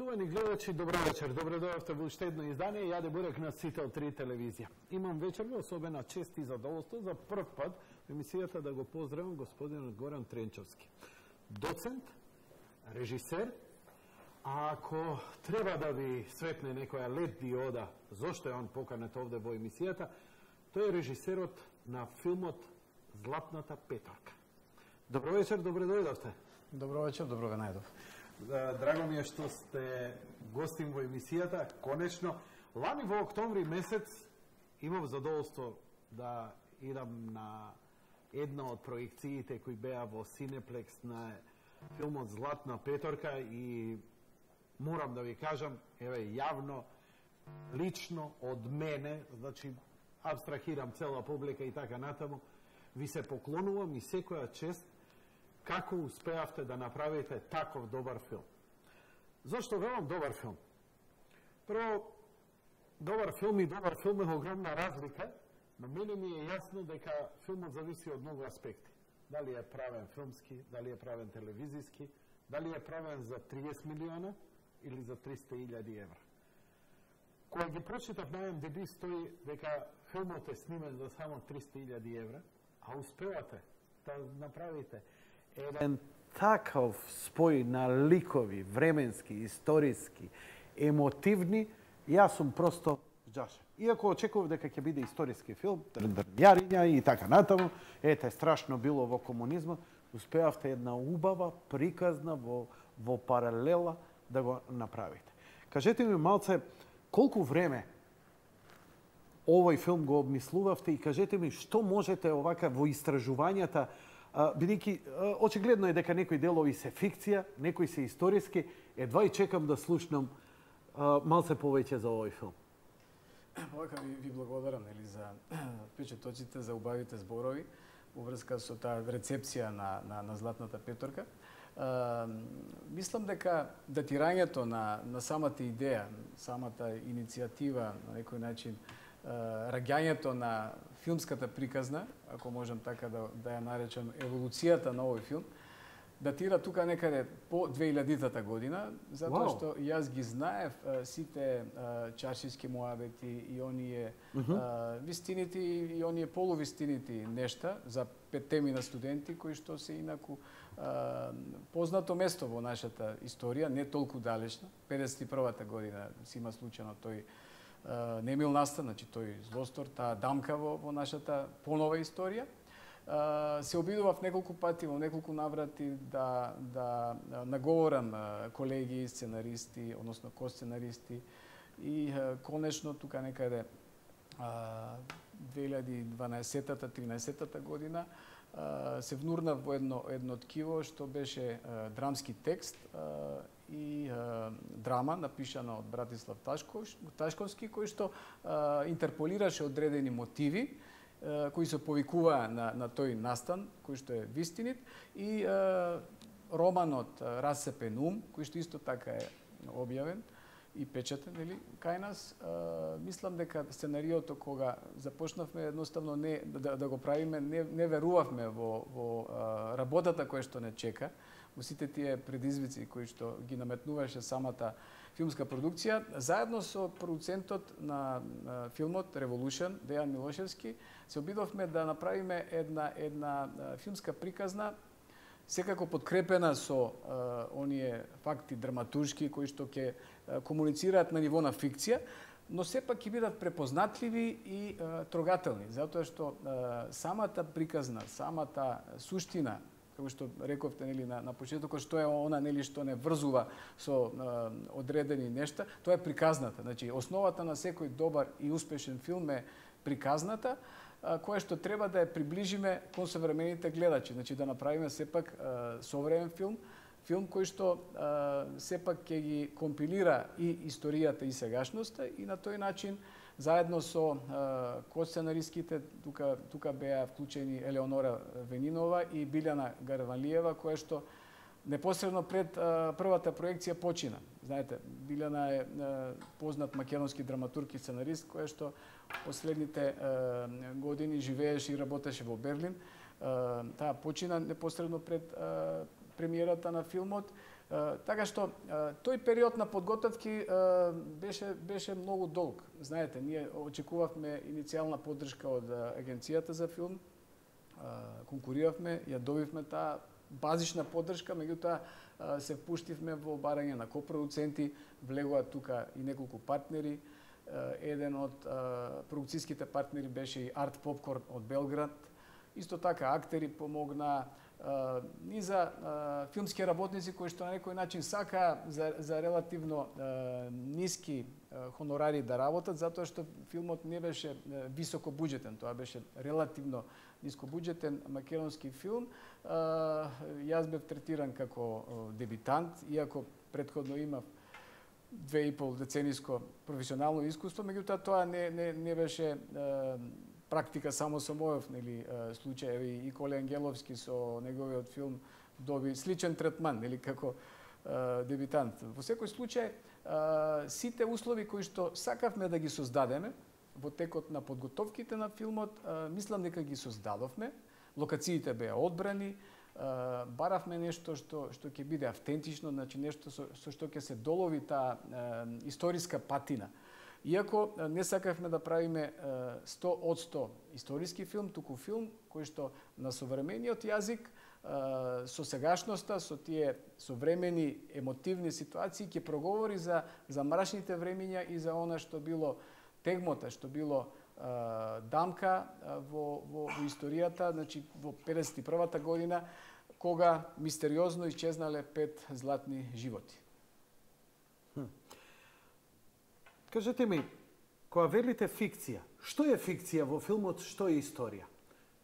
Почитувани гледачи, добро вечер. Добре дојавте во уште едно издание. Јаде Бурек на Сител 3 телевизија. Имам вечерва особена чест и задоволство за прв пат во емисијата да го поздравам господинот Горан Тренчовски. Доцент, режисер, а ако треба да ви светне некоја лед диода зошто е он поканет овде во емисијата, тој е режисерот на филмот Златната петорка. Добро вечер, добре дојдовте. Добро вечер, добро ве најдов. Драго ми е што сте гостин во емисијата, конечно. Лани во октомври месец имав задоволство да идам на една од проекциите кои беа во Синеплекс на филмот Златна петорка и морам да ви кажам, еве јавно, лично од мене, значи абстрахирам цела публика и така натаму, ви се поклонувам и секоја чест како успеавте да направите таков добар филм. Зошто велам добар филм? Прво, добар филм и добар филм е огромна разлика, но мене ми е јасно дека филмот зависи од многу аспекти. Дали е правен филмски, дали е правен телевизиски, дали е правен за 30 милиона или за 300.000 евра. Кога ги прочитав на IMDb стои дека филмот е снимен за само 300.000 евра, а успевате да направите еден таков спој на ликови, временски, историски, емотивни, јас сум просто жашен. Иако очекував дека ќе биде историски филм, дрвјариња и така натаму, ете, страшно било во комунизмот, успеавте една убава, приказна во паралела да го направите. Кажете ми малце, колку време овој филм го обмислувавте и кажете ми што можете овака во истражувањата, бидејќи очигледно е дека некои делови се фикција, некои се историски, едва и чекам да слушнам малце повеќе за овој филм. Овака ви благодарам за впечатоците, за убавите зборови во врска со таа рецепција на Златната петорка. Мислам дека датирањето на самата идеја, самата иницијатива, на некој начин, раѓањето на филмската приказна, ако можам така да ја наречам, еволуцијата на овој филм, датира тука некаде по 2000-та година, затоа што јас ги знаев сите чаршиски муабети и оние вистините и оние полувистините нешта за петтеми на студенти кои што се инаку познато место во нашата историја, не толку далечна. 51-та година си има случајно тој Немил Настан, значи тој злостор, таа дамка во нашата понова историја. Се обидував неколку пати, во неколку наврати да наговорам колеги, сценаристи, односно косценаристи и конечно тука некаде 2012-та, 13-та година се внурнав во едно ткиво што беше драмски текст и драма напишана од Братислав Ташковски, кој што интерполираше одредени мотиви кои се повикуваа на тој настан, кој што е вистинит, и романот Расцепен ум, кој што исто така е објавен и печатен, кај нас. Мислам дека сценариото кога започнавме едноставно да го правиме, не верувавме во работата која што не чека, во сите тие предизвици кои што ги наметнуваше самата филмска продукција. Заедно со продуцентот на филмот Revolution, Дејан Милошевски, се обидовме да направиме една филмска приказна, секако подкрепена со оние факти драматуршки кои што ќе комуницираат на ниво на фикција, но сепак ќе бидат препознатливи и трогателни, затоа што самата приказна, самата суштина, како што рековте на почетокот, што е она што не врзува со одредени нешта, тоа е приказната. Значи, основата на секој добар и успешен филм е приказната, која што треба да ја приближиме кон современите гледачи, значи да направиме сепак современ филм кој што сепак ќе ги компилира и историјата и сегашноста и на тој начин заедно со косценаристките тука беа вклучени Елеонора Венинова и Билјана Гарванлиева, која што непосредно пред првата проекција почина. Знаете, Билјана е познат македонски драматург и сценарист, која што последните години живееше и работеше во Берлин. Таа почина непосредно пред премиерата на филмот. Така што тој период на подготовки беше многу долг. Знаете, ние очекувавме иницијална поддршка од агенцијата за филм, конкуриравме, ја добивме таа базична поддршка, меѓутоа се впуштивме во барање на копродуценти, влегоа тука и неколку партнери. Еден од продукцијските партнери беше и Арт Попкорн од Белград. Исто така актери помогна, низа филмски работници кои што на некој начин сакаа за релативно ниски хонорари да работат, затоа што филмот не беше високо буџетен, тоа беше релативно нискобуџетен македонски филм. Јас бев третиран како дебитант, иако претходно имав 2,5 децениско професионално искуство, меѓутоа тоа не беше практика само со мојов случај. И Коле Ангеловски со неговиот филм доби сличен третман како дебитант. Во секој случај, сите услови кои што сакавме да ги создадеме во текот на подготовките на филмот, мислам дека ги создадовме. Локациите беа одбрани, баравме нешто што ќе биде автентично, значи нешто со што ќе се долови таа историска патина. Иако не сакавме да правиме 100% историски филм, туку филм кој што на современиот јазик, со сегашноста, со тие современи емотивни ситуации ќе проговори за мрачните времиња и за она што било тегмота, што било дамка во историјата, значи во 51-та година, кога мистериозно исчезнале 5 златни животи. Кажете ми, кога велите фикција, што е фикција во филмот, што е историја?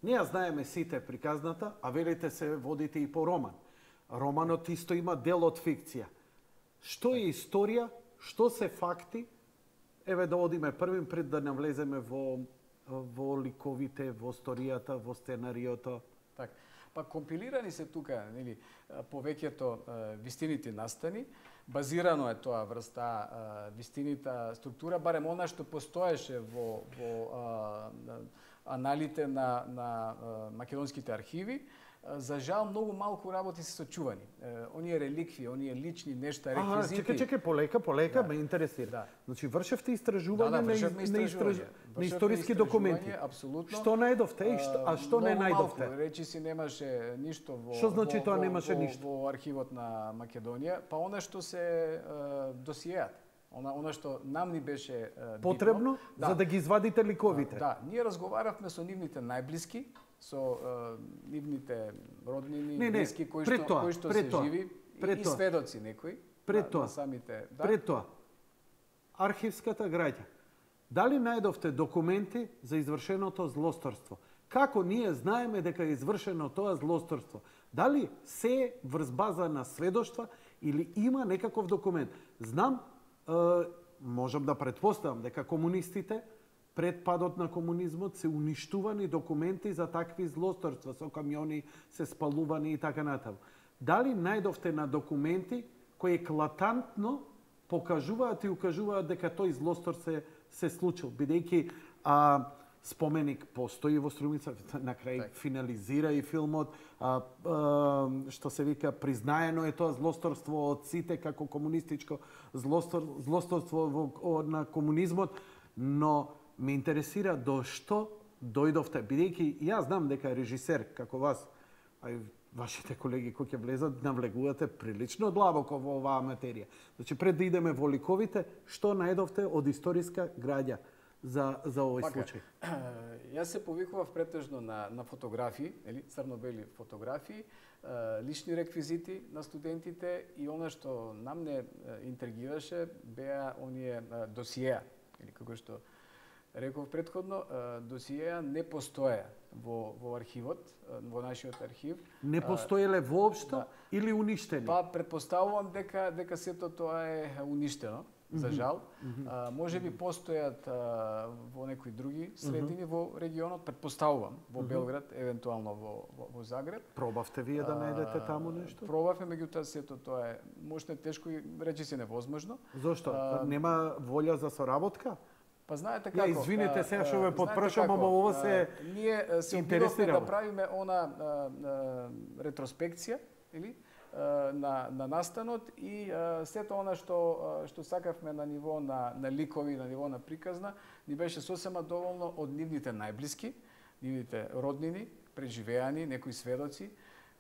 Ние знаеме сите приказната, а велите се водите и по роман. Романот исто има дел од фикција. Што е историја, што се факти? Еве да одиме првим пред да навлеземе во ликовите, во историјата, во сценариото. Так. Па компилирани се тука, повеќето вистините настани. Базирано е тоа врз таа вистинита структура, барем она што постоеше во аналите на македонските архиви. За жал, многу малку работи се сочувани. Оние реликви, оние лични нешта, реквизити... Чекај, полека, ме интересира. Да. Значи, вршевте истражување на историски документи. Апсолутно. Што најдовте, а што не најдовте? Малку, речи си немаше ништо Што значи тоа немаше ништо? Во архивот на Македонија, па она што се досиеат. Она што нам ни беше потребно, за да ги извадите ликовите. Да, ние разговаравме со нивните најблиски, со нивните роднини, блиски кои што се живи и сведоци некои на самите. Пред тоа, архивската граѓа. Дали најдовте документи за извршеното злосторство? Како ние знаеме дека е извршено тоа злосторство? Дали се врз база на сведоштва или има некаков документ? Знам, можам да претпоставам дека комунистите пред падот на комунизмот се уништувани документи за такви злосторства, со камиони се спалувани и така натаму. Дали најдовте на документи кои еклатантно покажуваат и укажуваат дека тој злостор се случил, бидејќи споменик постои во Струмица, на крај финализира и филмот, што се вика, признаено е тоа злосторство од сите како комунистичко злосторство на комунизмот, но ме интересира до што дојдовте, бидејќи јас знам дека режисер како вас, а и вашите колеги кои ќе влезат, навлегувате прилично длабоко во оваа материја. Значи, пред да идеме во ликовите, што најдовте од историска граѓа за овој случај? Јас се повикував претежно на фотографии, црно-бели фотографии, лични реквизити на студентите и она што нам не интригираше беа оние досиеа, или како што реков претходно, досиеа не постоеа во архивот, во нашиот архив. Не постоеле воопшто или уништени? Па предпоставувам дека сето тоа е уништено, за жал. Може би постојат во некои други средини во регионот, предпоставувам, во Белград, евентуално во Загреб. Пробавте вие да најдете таму нешто? Пробавме, меѓутоа сето тоа е можно тешко и речи се невозможно. Зошто? Нема волја за соработка? Па знаете како? Извинете сега што ве подпрашам, ама ова се ние се обидовме да правиме она ретроспекција, или на настанот и сето она што сакавме на ниво на ликови, на ниво на приказна, ни беше сосема доволно од нивните најблиски, нивните роднини, преживеани, некои сведоци,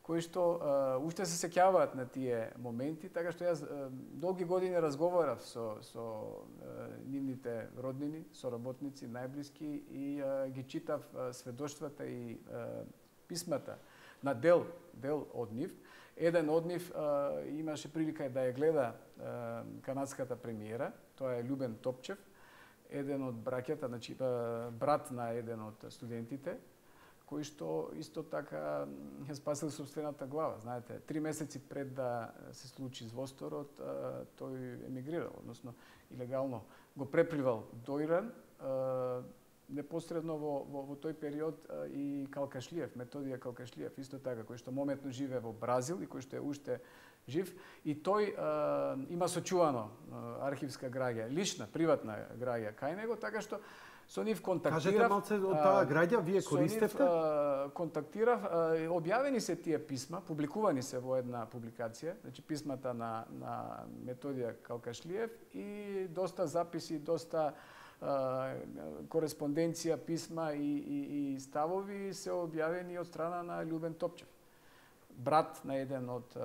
кои што уште се сеќаваат на тие моменти, така што јас долги години разговарав со нивните роднини, соработници, најблиски и ги читав сведоштвата и писмата на дел од нив. Еден од нив имаше прилика да ја гледа канадската премиера, тоа е Љубен Топчев, еден од браќата, значи брат на еден од студентите, кој што исто така ја спасил собствената глава. Знаете, 3 месеци пред да се случи звосторот, тој емигрирал, односно илегално го препливал до Иран, непосредно во тој период и Калкашлиев, Методија Калкашлиев, исто така, кој што мометно живее во Бразил и кој што е уште жив. И тој има сочувано архивска граѓа, лична, приватна граѓа кај него, така што со нив контактирав. Кажете малце од таа граѓа вие користевте? Со нив контактирав, објавени се тие писма, публикувани се во една публикација, значи писмата на Методија Калкашлиев и доста записи, доста кореспонденција, писма и ставови се објавени од страна на Љубен Топчев, брат на еден од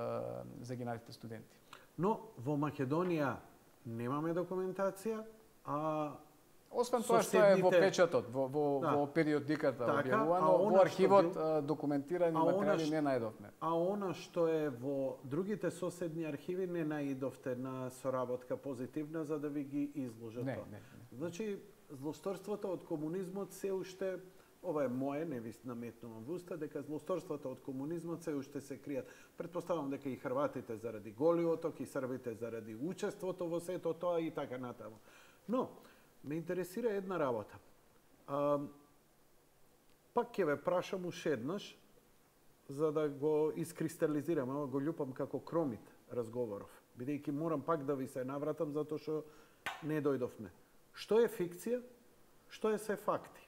загиналите студенти. Но во Македонија немаме документација, освен тоа што е во печатот, во периодиката објавувано, во архивот документирани материјали не најдовме. А она што е во другите соседни архиви не најдовте на соработка позитивна за да ви ги изложат тоа? Не. Значи, злосторството од комунизмот се уште, ова е мое, не ви наметнувам во уста, дека злосторството од комунизмот се уште се кријат. Претпоставам дека и хрватите заради голиот оток, и србите заради учеството во сето тоа и така натаму. Но, ме интересира една работа. Пак ќе ве прашам уште еднаш, за да го искристализирам, ама го љупам како кромит разговоров, бидејќи морам пак да ви се навратам затоа што не дојдовме. Што е фикција? Што е се факти?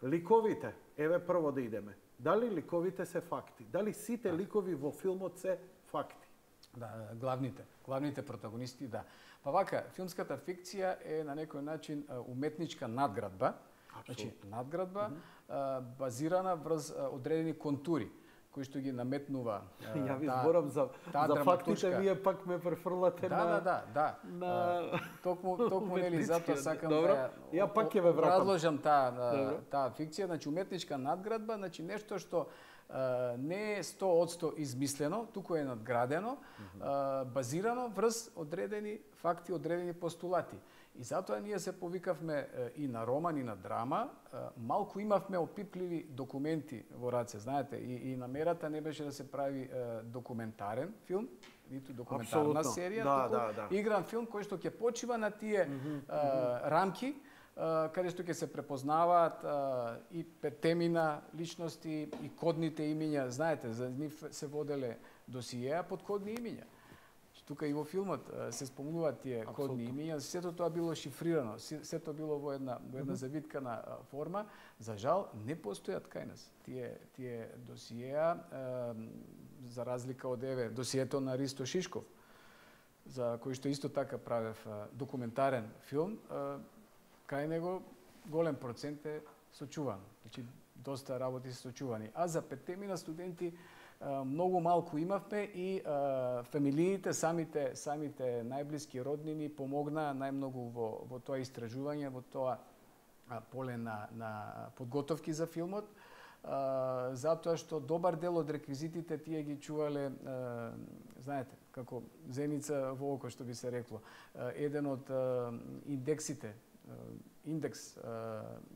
Ликовите, еве прво да идеме. Дали ликовите се факти? Дали сите ликови во филмот се факти? Да, главните протагонисти, да. Па вака, филмската фикција е на некој начин уметничка надградба, значи надградба базирана врз одредени контури кои што ги наметнува ја ви зборам за фактите, вие пак ме префрлате на токму нели затоа сакам да ја пак ќе ве вратам. Разложам таа фикција, значи уметничка надградба, значи нешто што не е 100% измислено, туку е надградено, базирано врз одредени факти, одредени постулати. И затоа ние се повикавме и на роман, и на драма. Малку имавме опипливи документи во раце, знаете, и намерата не беше да се прави документарен филм, ниту документарна серија, туку игран филм кој што ќе почива на тие рамки, каде што ќе се препознаваат и петемина личности и кодните имиња. Знаете, за нив се воделе досиеа под кодни имиња. Тука и во филмот се спомнуваат тие кодни имиња, сето тоа било шифрирано, сето било во една завиткана форма. За жал, не постојат кај нас тие досиеа, за разлика од досието на Ристо Шишков, за кој што исто така правев документарен филм. Кај него голем процент е сочувано. Значи, доста работи се сочувани. А за петемина студенти многу малку имавме и фамилиите, самите најблиски роднини помогнаа најмногу во тоа истражување, во тоа поле на подготовки за филмот, затоа што добар дел од реквизитите тие ги чувале, знаете, како зеница во око, што би се рекло. Еден од индекс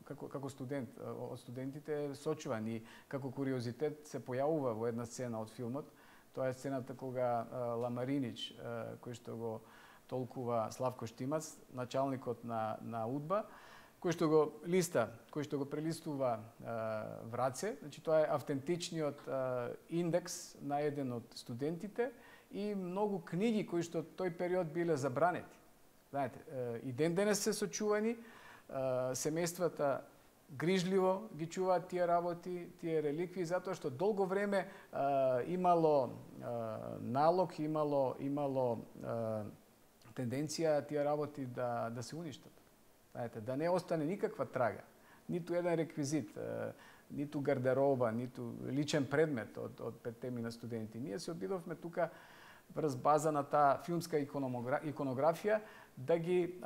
како студент од студентите е сочуван и како куриозитет се појавува во една сцена од филмот. Тоа е сцената кога Ламаринич, кој што го толкува Славко Штимац, началникот на УДБА, кој што го прелистува Враце, значи тоа е автентичниот индекс на еден од студентите и многу книги кои што тој период биле забранети. Знаете, и ден денес се сочувани, семејствата грижливо ги чуваат тие работи, тие реликви, затоа што долго време имало налог, имало тенденција тие работи да се уништат. Знаете, да не остане никаква трага, ниту еден реквизит, ниту гардероба, ниту личен предмет од петте на студенти. Ние се обидовме тука врз база на таа филмска иконографија да ги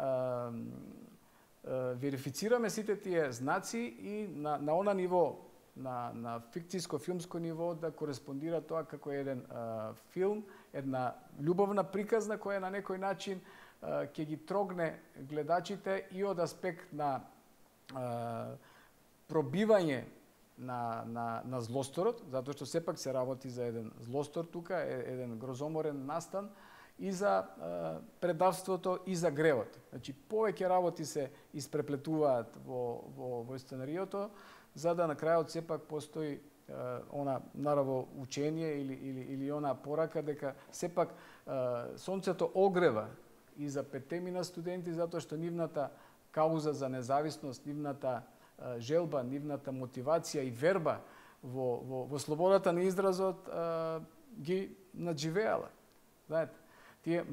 верифицираме сите тие знаци и на она ниво, на фикцијско филмско ниво да кореспондира тоа како еден филм, една љубовна приказна која на некој начин ќе ги трогне гледачите и од аспект на пробивање на злосторот, затоа што сепак се работи за еден злостор тука, еден грозоморен настан, и за предавството и за гревот. Значи, повеќе работи се испреплетуваат во сценариото, за да на крајот сепак постои она нараво учение или она порака дека сепак сонцето огрева и за петтемина студенти, затоа што нивната кауза за независност, нивната желба, нивната мотивација и верба во слободата на изразот ги надживеала. Знаете, тие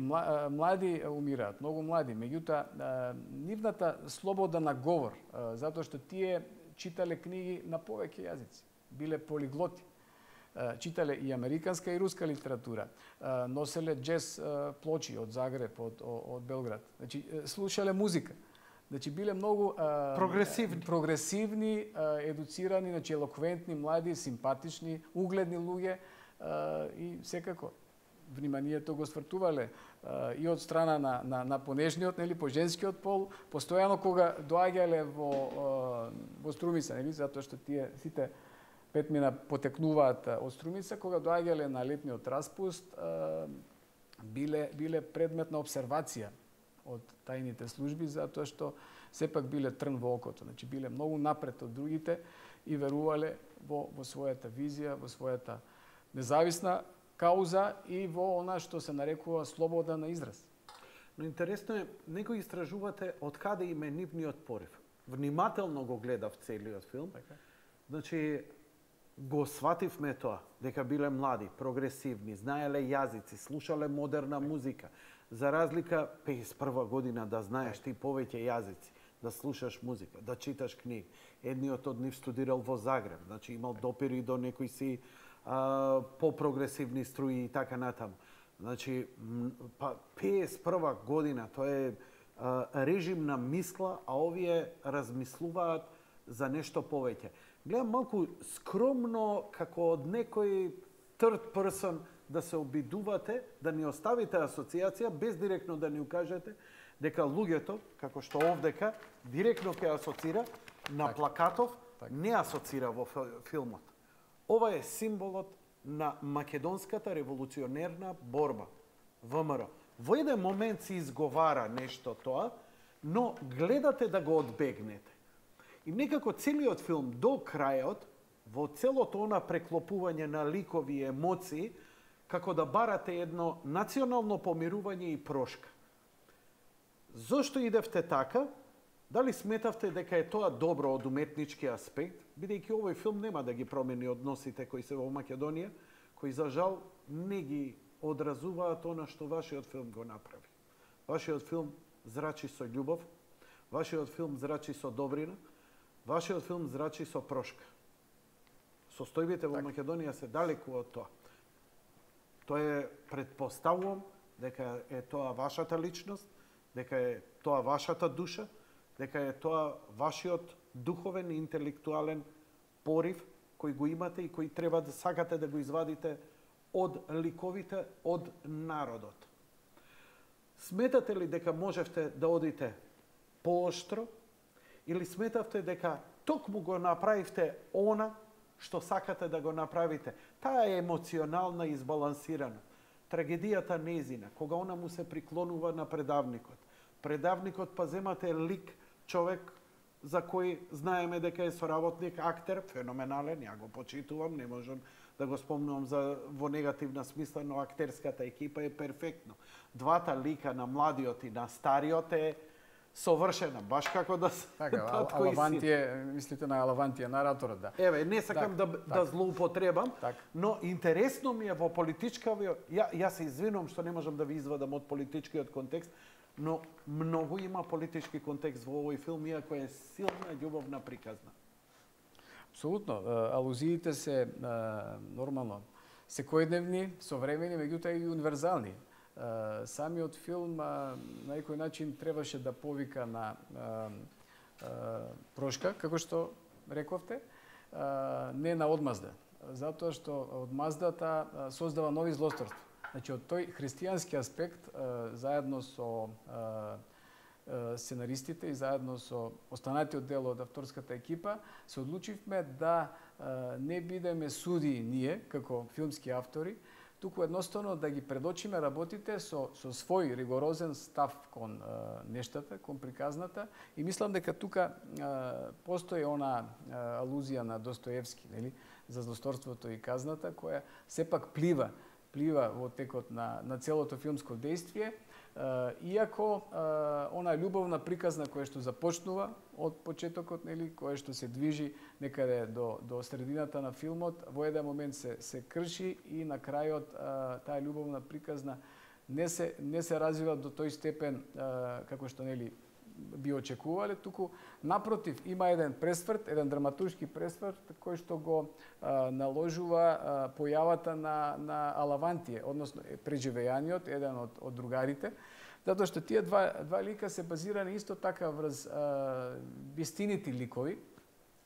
млади умираат, многу млади, меѓутоа нивната слобода на говор, затоа што тие читале книги на повеќе јазици, биле полиглоти. Читале и американска и руска литература, носеле джез плочи од Загреб, од Белград. Значи, слушале музика. Значи, биле многу прогресивни, едуцирани, значи, елоквентни, млади, симпатични, угледни луѓе и секако вниманието го свртувале и од страна на понежниот, нели, по женскиот пол, постојано кога доаѓале во Струмица, нели, затоа што тие сите петмина потекнуваат од Струмица, кога доаѓале на летниот распуст, биле предмет на обсервација од тајните служби, затоа што сепак биле трн во окото. Значи, биле многу напред од другите и верувале во својата визија, во својата независна кауза и во она што се нарекува слобода на израз. Но интересно е, некои истражувате од каде им е нивниот порив. Внимателно го гледав целиот филм. Значи, го свативме тоа, дека биле млади, прогресивни, знаеле јазици, слушале модерна музика. За разлика 51 година да знаеш ти повеќе јазици, да слушаш музика, да читаш книги. Едниот од нив студирал во Загреб, значи имал допири до некои си по-прогресивни струи и така натаму. Значи, 51 година, тоа е режим на мисла, а овие размислуваат за нешто повеќе. Гледам малку скромно, како од некој third person, да се обидувате, да ни оставите асоциација, без директно да ни укажете, дека луѓето, како што овдека, директно ќе асоцира на плакатов, не асоцира во филмот. Ова е символот на македонската револуционерна борба, ВМРО. Во еден момент се изговара нешто тоа, но гледате да го одбегнете. И некако целиот филм до крајот, во целото она преклопување на ликови и емоции, како да барате едно национално помирување и прошка. Зошто идевте така? Дали сметавте дека е тоа добро од уметнички аспект, бидејќи овој филм нема да ги промени односите кои се во Македонија, кои за жал не ги одразуваат она што вашиот филм го направи. Вашиот филм зрачи со љубов, вашиот филм зрачи со добрина, вашиот филм зрачи со прошка. Состојбите во Македонија се далеку од тоа. Тоа е, предпоставувам, дека е тоа вашата личност, дека е тоа вашата душа, дека е тоа вашиот духовен и интелектуален порив кој го имате и кој треба да сакате да го извадите од ликовите, од народот. Сметате ли дека можевте да одите поостро или сметавте дека токму го направивте она што сакате да го направите? Таа е емоционална и избалансирана. Трагедијата незина, кога она му се приклонува на предавникот. Предавникот па земате лик, човек за кој знаеме дека е соработник, актер, феноменален, ја го почитувам, не можам да го спомнувам во негативна смисла, но актерската екипа е перфектно. Двата лика на младиот и на стариот е совршена, баш како да се Така, татко и син. Алавантие, мислите на Алавантие, нараторот, да. Еве, не сакам да злоупотребам, но интересно ми е во политичкавиот, ја се извинувам што не можам да ви извадам од политичкиот контекст, но многу има политички контекст во овој филм, иако е силна љубовна приказна. Апсолутно. Алузиите се нормално секојдневни, современи, меѓутоа и универзални. Самиот филм на некој начин требаше да повика на прошка, како што рековте, не на одмазда, затоа што одмаздата создава нови злосторства. Значи, од тој христијански аспект, заедно со сценаристите и заедно со останатиот дел од авторската екипа, се одлучивме да не бидеме суди ние, како филмски автори, туку едноставно да ги предочиме работите со свој ригорозен став кон нештата, кон приказната, и мислам дека тука постои она алузија на Достоевски, нели, за злосторството и казната, која сепак плива во текот на целото филмско действие, иако она љубовна приказна која што започнува од почетокот, нели, која што се движи некаде до средината на филмот, во еден момент се крши и на крајот таа љубовна приказна не се развива до тој степен како што, нели, би очекувале, туку напротив има еден пресврт, еден драматуршки пресврт кој што го наложува појавата на Алавантие, односно преживеањето еден од другарите, затоа што тие два лика се базирани исто така врз вистинити ликови,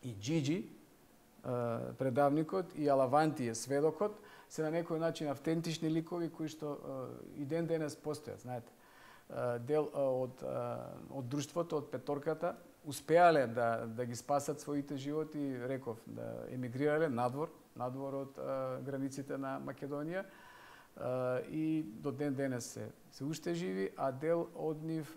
и Джиджи, предавникот, и Алавантие, сведокот, се на некој начин автентични ликови кои што и ден денес постојат, знаете. Дел од друштвото, од петорката, успеале да ги спасат своите животи, реков, да емигрирале надвор од границите на Македонија, и до ден денес се уште живи, а дел од нив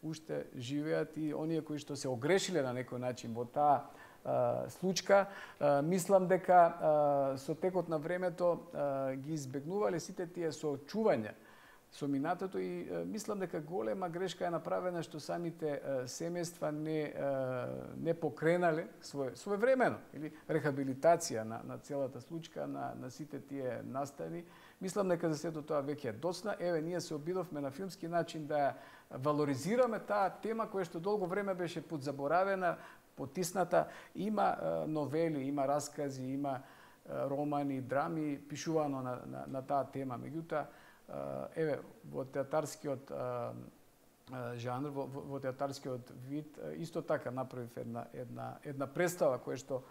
уште живеат, и оние кои што се огрешиле на некој начин во таа случка, мислам дека со текот на времето ги избегнувале сите тие соочувања со минатото, и мислам дека голема грешка е направена што самите семејства не покренале своевремено или рехабилитација на целата случка, на сите тие настани. Мислам дека за сето тоа веќе е доцна. Еве, ние се обидовме на филмски начин да валоризираме таа тема која што долго време беше подзаборавена, потисната. Има новели, има раскази, има романи, драми пишувано на таа тема. Меѓутоа, еве, во театарскиот жанр, во театарскиот вид, исто така направив една представа која што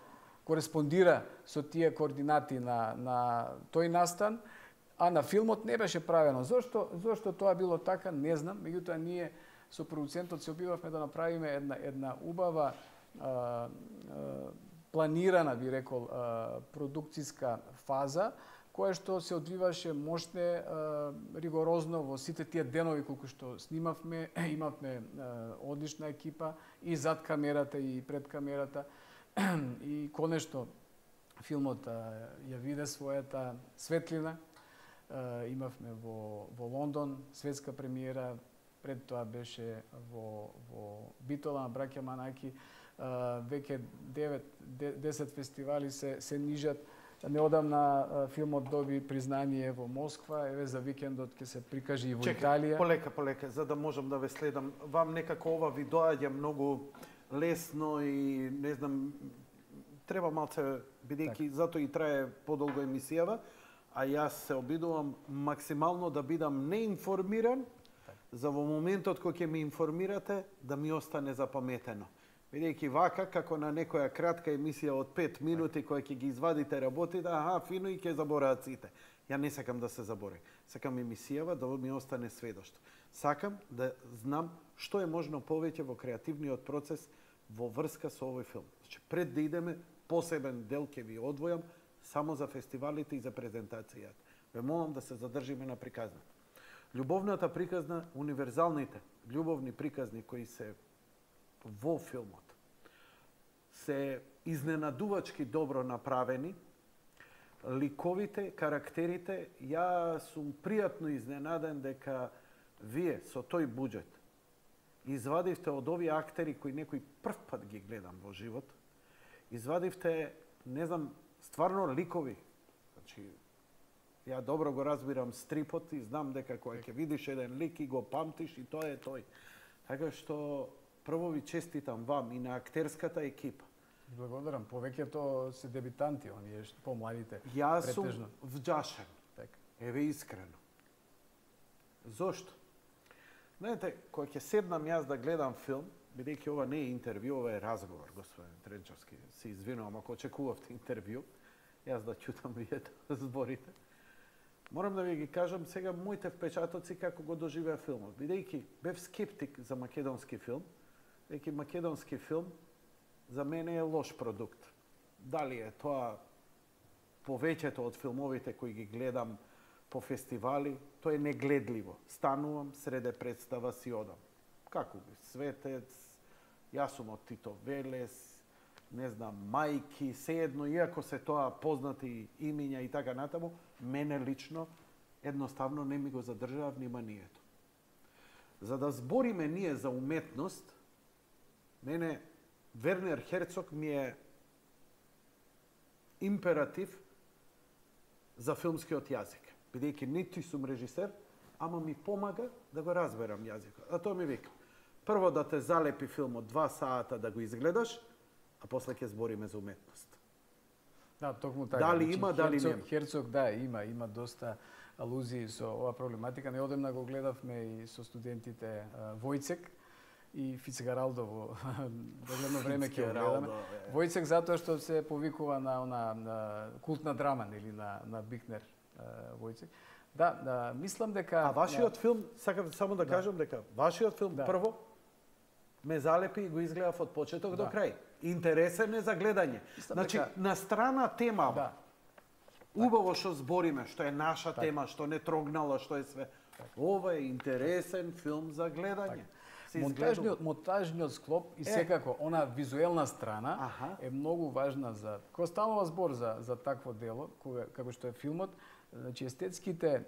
кореспондира со тие координати на тој настан, а на филмот не беше правено. Зошто тоа било така, не знам, меѓутоа ние со продуцентот се обидовме да направиме една убава планирана, би рекол, продукциска фаза, која што се одвиваше мощне, ригорозно во сите тие денови колку што снимавме. Имавме одлична екипа и зад камерата и пред камерата, и конечно филмот ја виде својата светлина. Имавме во Лондон светска премиера, пред тоа беше во Битола на браќа Манаки. Веќе 9-10 фестивали се нижат. Неодамна филмот доби признание во Москва, еве за викендот ќе се прикаже и во Италија. Полека, за да можам да ве следам. Вам некако ова ви доаѓа многу лесно и не знам, треба малце, бидејќи затоа и трае подолго емисијава, а јас се обидувам максимално да бидам неинформиран, за во моментот кој ќе ме информирате да ми остане запаметено. Бидејќи вака, како на некоја кратка емисија од 5 минути која ќе ги извадите работите, фино и ќе забораат сите. Ја не сакам да се забори. Сакам емисијава да ми остане сведоштво. Сакам да знам што е можно повеќе во креативниот процес во врска со овој филм. Значи, пред да идеме, посебен дел ќе ви одвојам само за фестивалите и за презентацијата. Ве молам да се задржиме на приказната. Љубовната приказна, универзалните љубовни приказни кои се во филмот се изненадувачки добро направени. Ликовите, карактерите, ја сум пријатно изненаден дека вие со тој буџет извадивте од овие актери кои некој прв пат ги гледам во живот, извадивте, не знам, стварно ликови. Значи, ја добро го разбирам стрипот и знам дека кога ќе видиш еден лик и го памтиш и тоа е тој. Така што прво ви честитам вам и на актерската екипа. Благодарам. Повеќето се дебитанти, оние помладите. Јас сум вџашен. Така. Еве искрено. Зошто? Знаете, кога ќе седнам јас да гледам филм, бидејќи ова не е интервју, ова е разговор, господин Тренчовски. Се извинувам ако очекувавте интервју, јас да ќутам вие да зборите. Морам да ви ги кажам сега моите впечатоци како го доживеа филмот. Бидејќи бев скептик за македонски филм, бидејќи македонски филм за мене е лош продукт. Дали е тоа повеќето од филмовите кои ги гледам по фестивали, тоа е негледливо. Станувам, среде представа си одам. Како би? Светец, јас сум од Тито Велес, не знам, Мајки, сеедно, иако се тоа познати имиња и така натаму, мене лично едноставно не ми го задржава вниманието. За да збориме ние за уметност, мене Вернер Херцог ми е императив за филмскиот јазик. Бидејќи ниту сум режисер, ама ми помага да го разберам јазикот. А тоа ми вика. Прво да те залепи филмот 2 сата да го изгледаш, а после ќе збориме за уметност. Да, токму така. Дали има, дали нема? Херцог, да, има доста алузии со оваа проблематика. Неодамна го гледавме и со студентите Војцек и Фицгаралдо во догледно време ќе го гледаме. Војцек затоа што се повикува на култна драма или на Бикнер Војцек. Да, мислам дека А вашиот филм, сакам само да кажам дека вашиот филм прво ме залепи и го изгледав од почеток до крај. Интересен е за гледање. Значи, на страна тема, убаво што збориме, што е наша тема, што не трогнала, што е све. Ова е интересен филм за гледање. Монтажниот склоп и секако она визуелна страна е многу важна за кога станува збор за такво дело, како што е филмот. Значи, естетските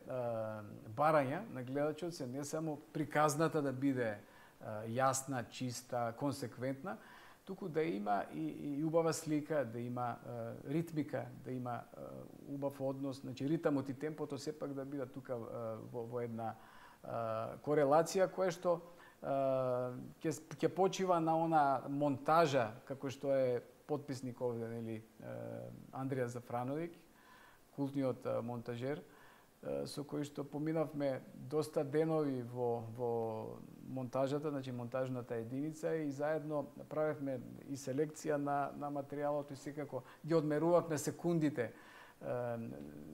барања на гледачот се не само приказната да биде јасна, чиста, консеквентна, туку да има и убава слика, да има ритмика, да има убав однос, значи ритамот и темпото сепак да бидат тука во една корелација која што ќе почива на она монтажа како што е потписник овде, нели, Андрија Зафрановиќ, култниот монтажер, со кој што поминавме доста денови во монтажата, значи монтажната единица и заедно правевме и селекција на материјалот и секако ги одмерувавме секундите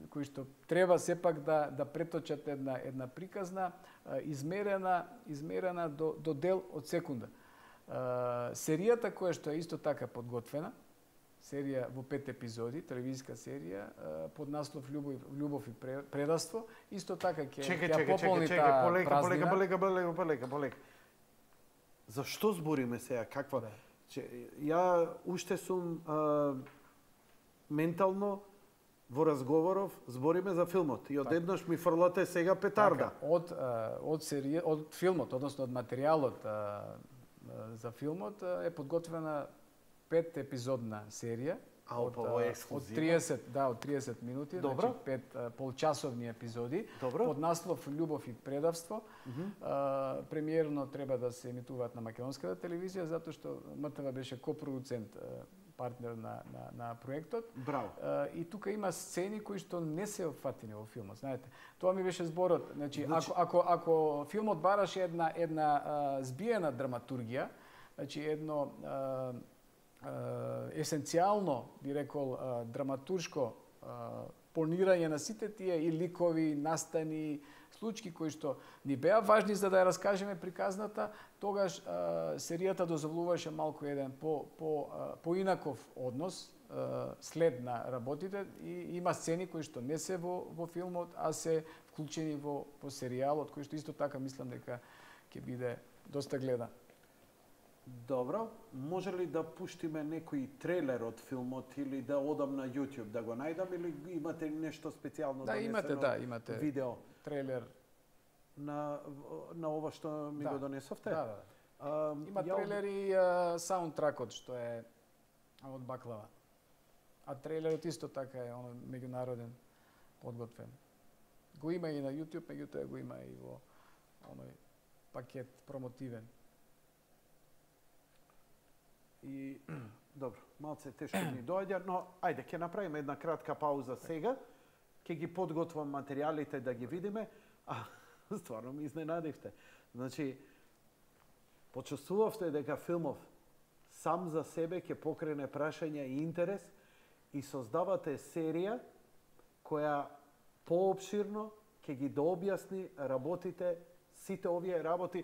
кои што треба сепак да преточат една приказна измерена до дел од секунда. Серијата која што е исто така подготвена, серија во 5 епизоди, телевизиска серија под наслов Љубов и предавство, исто така ќе пополни таа празнина. Полека. Зашто збориме сега? Каква? Ја уште сум ментално во разговоров, збориме за филмот и одеднаш ми фрлате сега петарда. Од филмот, односно од материјалот за филмот е подготвена 5 епизодна серија од 30 минути, значи 5 полчасовни епизоди под наслов Љубов и предавство. Премиерно треба да се емитуваат на македонската телевизија затоа што МТВ беше копродуцент, партнер на проектот. Браво. И тука има сцени кои што не се опфатени во филмот, знаете. Тоа ми беше зборот, значи ако филмот бараше една збиена драматургија, значи едно есенцијално, би рекол, драматуршко планирање на сите тие и ликови, настани, случаи кои што ни беа важни за да ја раскажеме приказната, тогаш серијата дозволуваше малку еден поинаков однос след на работите и има сцени кои што не се во филмот, а се вклучени во серијалот, кој што исто така мислам дека ќе биде доста гледан. Добро, може ли да пуштиме некој трейлер од филмот или да одам на YouTube да го најдам или имате нешто специјално донесено? Имате видео трейлер на ова што ми го донесовте? Да. Има трейлер и саундтракот што е од Баклава. А трейлерот исто така е меѓународен подготвен. Го има и на YouTube, меѓутоа го има и во оној пакет промотивен. И добро, малце тешко ни доаѓа, но ајде ќе направиме една кратка пауза сега. Ќе ги подготвам материјалите да ги видиме. Стварно ми изненадивте. Значи, почувствувавте дека филмов сам за себе ќе покрене прашање и интерес и создавате серија која поопширно ќе ги дообјасни работите, сите овие работи,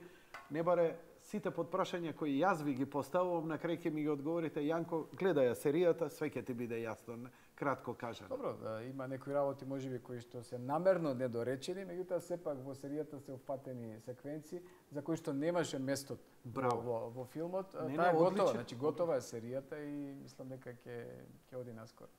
не баре сите подпрашања кои јас ви ги поставувам, на крај ќе ми ги одговорите: Јанко, гледај ја серијата, све ќе ти биде јасно, кратко кажано. Добро, има некои работи можеби кои што се намерно недоречени, меѓутоа сепак во серијата се опфатени секвенции за кои што немаше место во филмот. Таа е готова, значи готова е серијата и мислам дека ќе оди наскоро.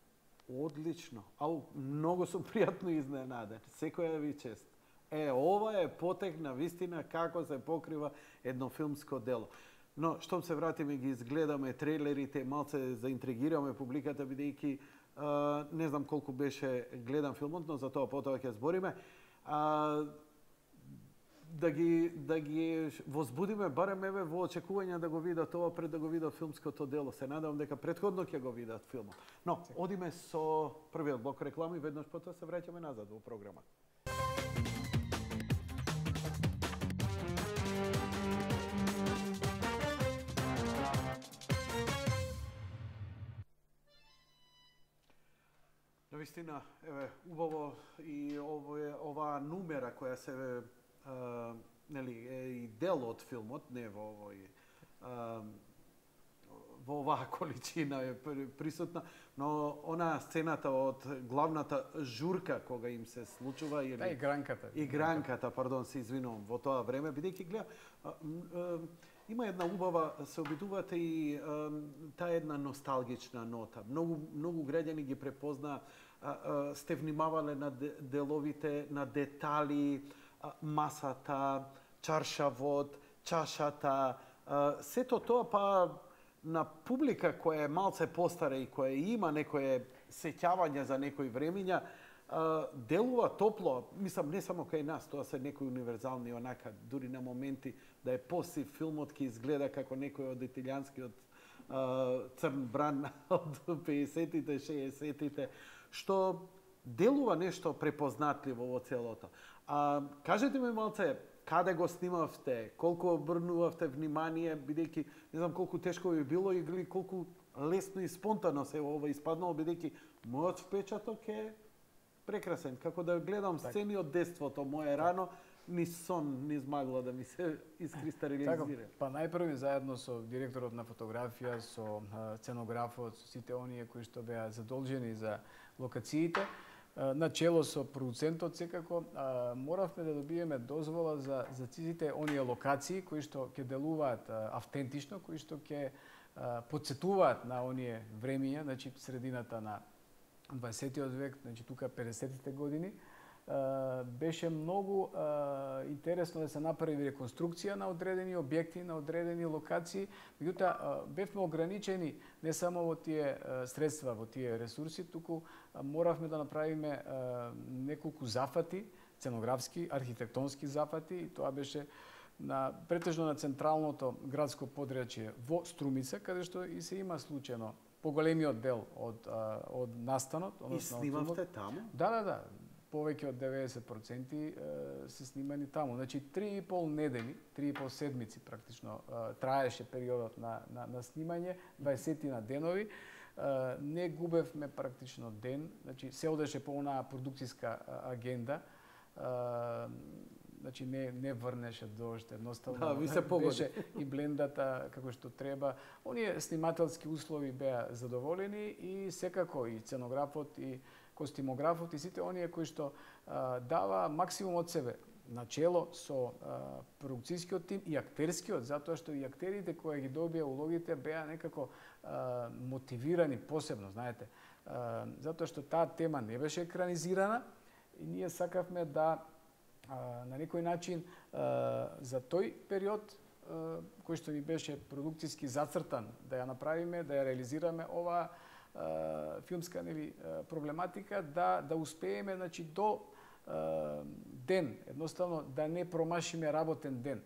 Одлично. Ау, многу сум пријатно изненаден. Секоја ви чест. Ова е потек на вистина како се покрива едно филмско дело. Но, штом се вратиме, ги изгледаме трейлерите, малце заинтригираме публиката, бидејќи не знам колку беше гледан филмот, но за тоа потоа ќе збориме. Да ги возбудиме барем еве во очекување да го видат ова пред да го видат филмското дело. Се надевам дека претходно ќе го видат филмот. Но, одиме со првиот блок реклами, веднаш потоа се враќаме назад во програма. Навистина, еве, убаво и оваа нумера која се нели е и дел од филмот, не во оваа количина е присутна, но она сцената од главната журка кога им се случува или игранката, пардон, се извинувам, во тоа време, бидејќи гледа има една убава, се обидувате и таа една носталгична нота. Многу граѓани ги препозна, сте внимавале на деловите, на детали, масата, чаршавот, чашата, сето тоа па на публика која е малце постара и која има некое сеќавање за некои времиња, делува топло, мислам не само кај нас, тоа се некои универзални онака, дури на моменти да е посив филмот ќе изгледа како некој од италијанскиот црн бран од 50-тите, 60-тите, што делува нешто препознатливо во целото. Кажете ми малце, каде го снимавте, колку обрнувавте внимание, бидејќи не знам колку тешко би било или колку лесно и спонтано се ова испаднало, бидејќи мојот впечаток е прекрасен. Како да гледам сцени од детството мое рано, ни сон не измагла да ми се искристализира. Па најпрви заедно со директорот на фотографија, со сценографот, со сите оние кои што беа задолжени за локациите, на чело со продуцентот секако, моравме да добиеме дозвола за сите оние локации кои што ќе делуваат автентично, кои што ќе потсетуваат на оние времиња, значи средината на 20-тиот век, значи тука 50-тите години. Беше многу интересно да се направи реконструкција на одредени објекти, на одредени локации, меѓутоа бевме ограничени не само во тие средства, во тие ресурси, туку моравме да направиме неколку зафати, сценографски, архитектонски зафати, и тоа беше претежно на централното градско подрачје во Струмица, каде што и се има случајно поголемиот дел од настанот. И снимавте таму? Да. Повеќе од 90% се снимани таму. Значи 3,5 недели, 3,5 седмици практично траеше периодот на снимање, 20 денови. Не губевме практично ден, значи се одеше по онаа продукцијска агенда. Значи не врнеше дожд, едноставно ви се погоди. Беше и блендата како што треба. Оние снимателски услови беа задоволени и секако и сценографот и костимографот и сите оние кои што дава максимум од себе начело со продукцијскиот тим и актерскиот, затоа што и актерите кои ги добија улогите беа некако мотивирани посебно, знаете. Затоа што таа тема не беше екранизирана и ние сакавме да на некој начин за тој период кој што ни беше продукцијски зацртан да ја направиме, да ја реализираме оваа филмска проблематика, да успееме до ден, едноставно да не промашиме работен ден.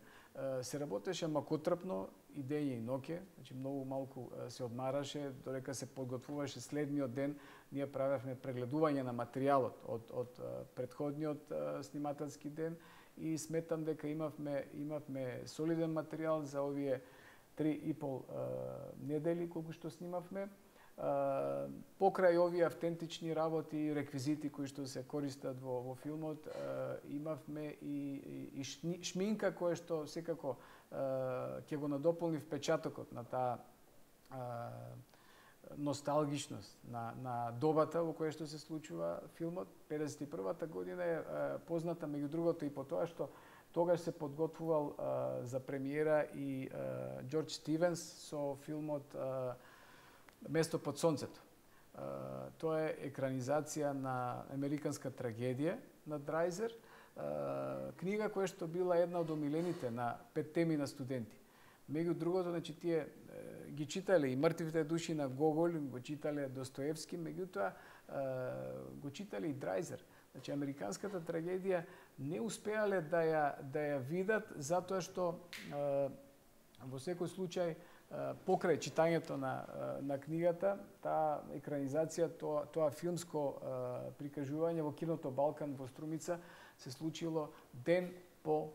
Се работеше макотрпно и дење и ноќе, многу малку се одмараше, додека се подготвуваше следниот ден, ние правевме прегледување на материјалот од претходниот снимателски ден и сметам дека имавме солиден материјал за овие 3,5 недели колку што снимавме. Покрај овие автентични работи и реквизити кои што се користат во филмот, имавме и шминка која што секако ќе го надополни впечатокот на таа носталгичност на добата во која што се случува филмот. 51-та година е позната меѓу другото и по тоа што тогаш се подготвувал за премиера и Џорџ Стивенс со филмот Место под сонцето. Тоа е екранизација на американска трагедија на Драйзер, книга која што била една од омилените на 5 теми на студенти. Меѓу другото, тие ги читале и Мртвите души на Гоголь, го читале Достоевски, меѓутоа го читале и Драйзер. Американската трагедија не успеале да ја видат затоа што во секој случај покрај читањето на книгата, таа екранизација, тоа филмско прикажување во киното Балкан во Струмица се случило ден по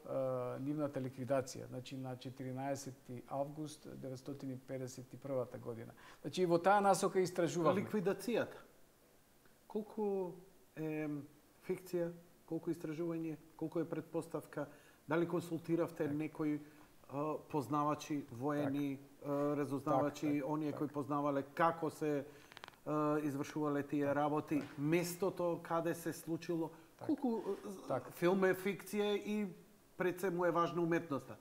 нивната ликвидација, на 14 август 1951 година. И во таа насока истражувавме. Ликвидацијата, колку е фикција, колку истражување, колку е предпоставка, дали консултиравте некои познавачи, воени, разузнавачи, оние кои познавале како се извршувале тие работи, местото каде се случило, колку филм е фикција и пред се му е важна уметноста.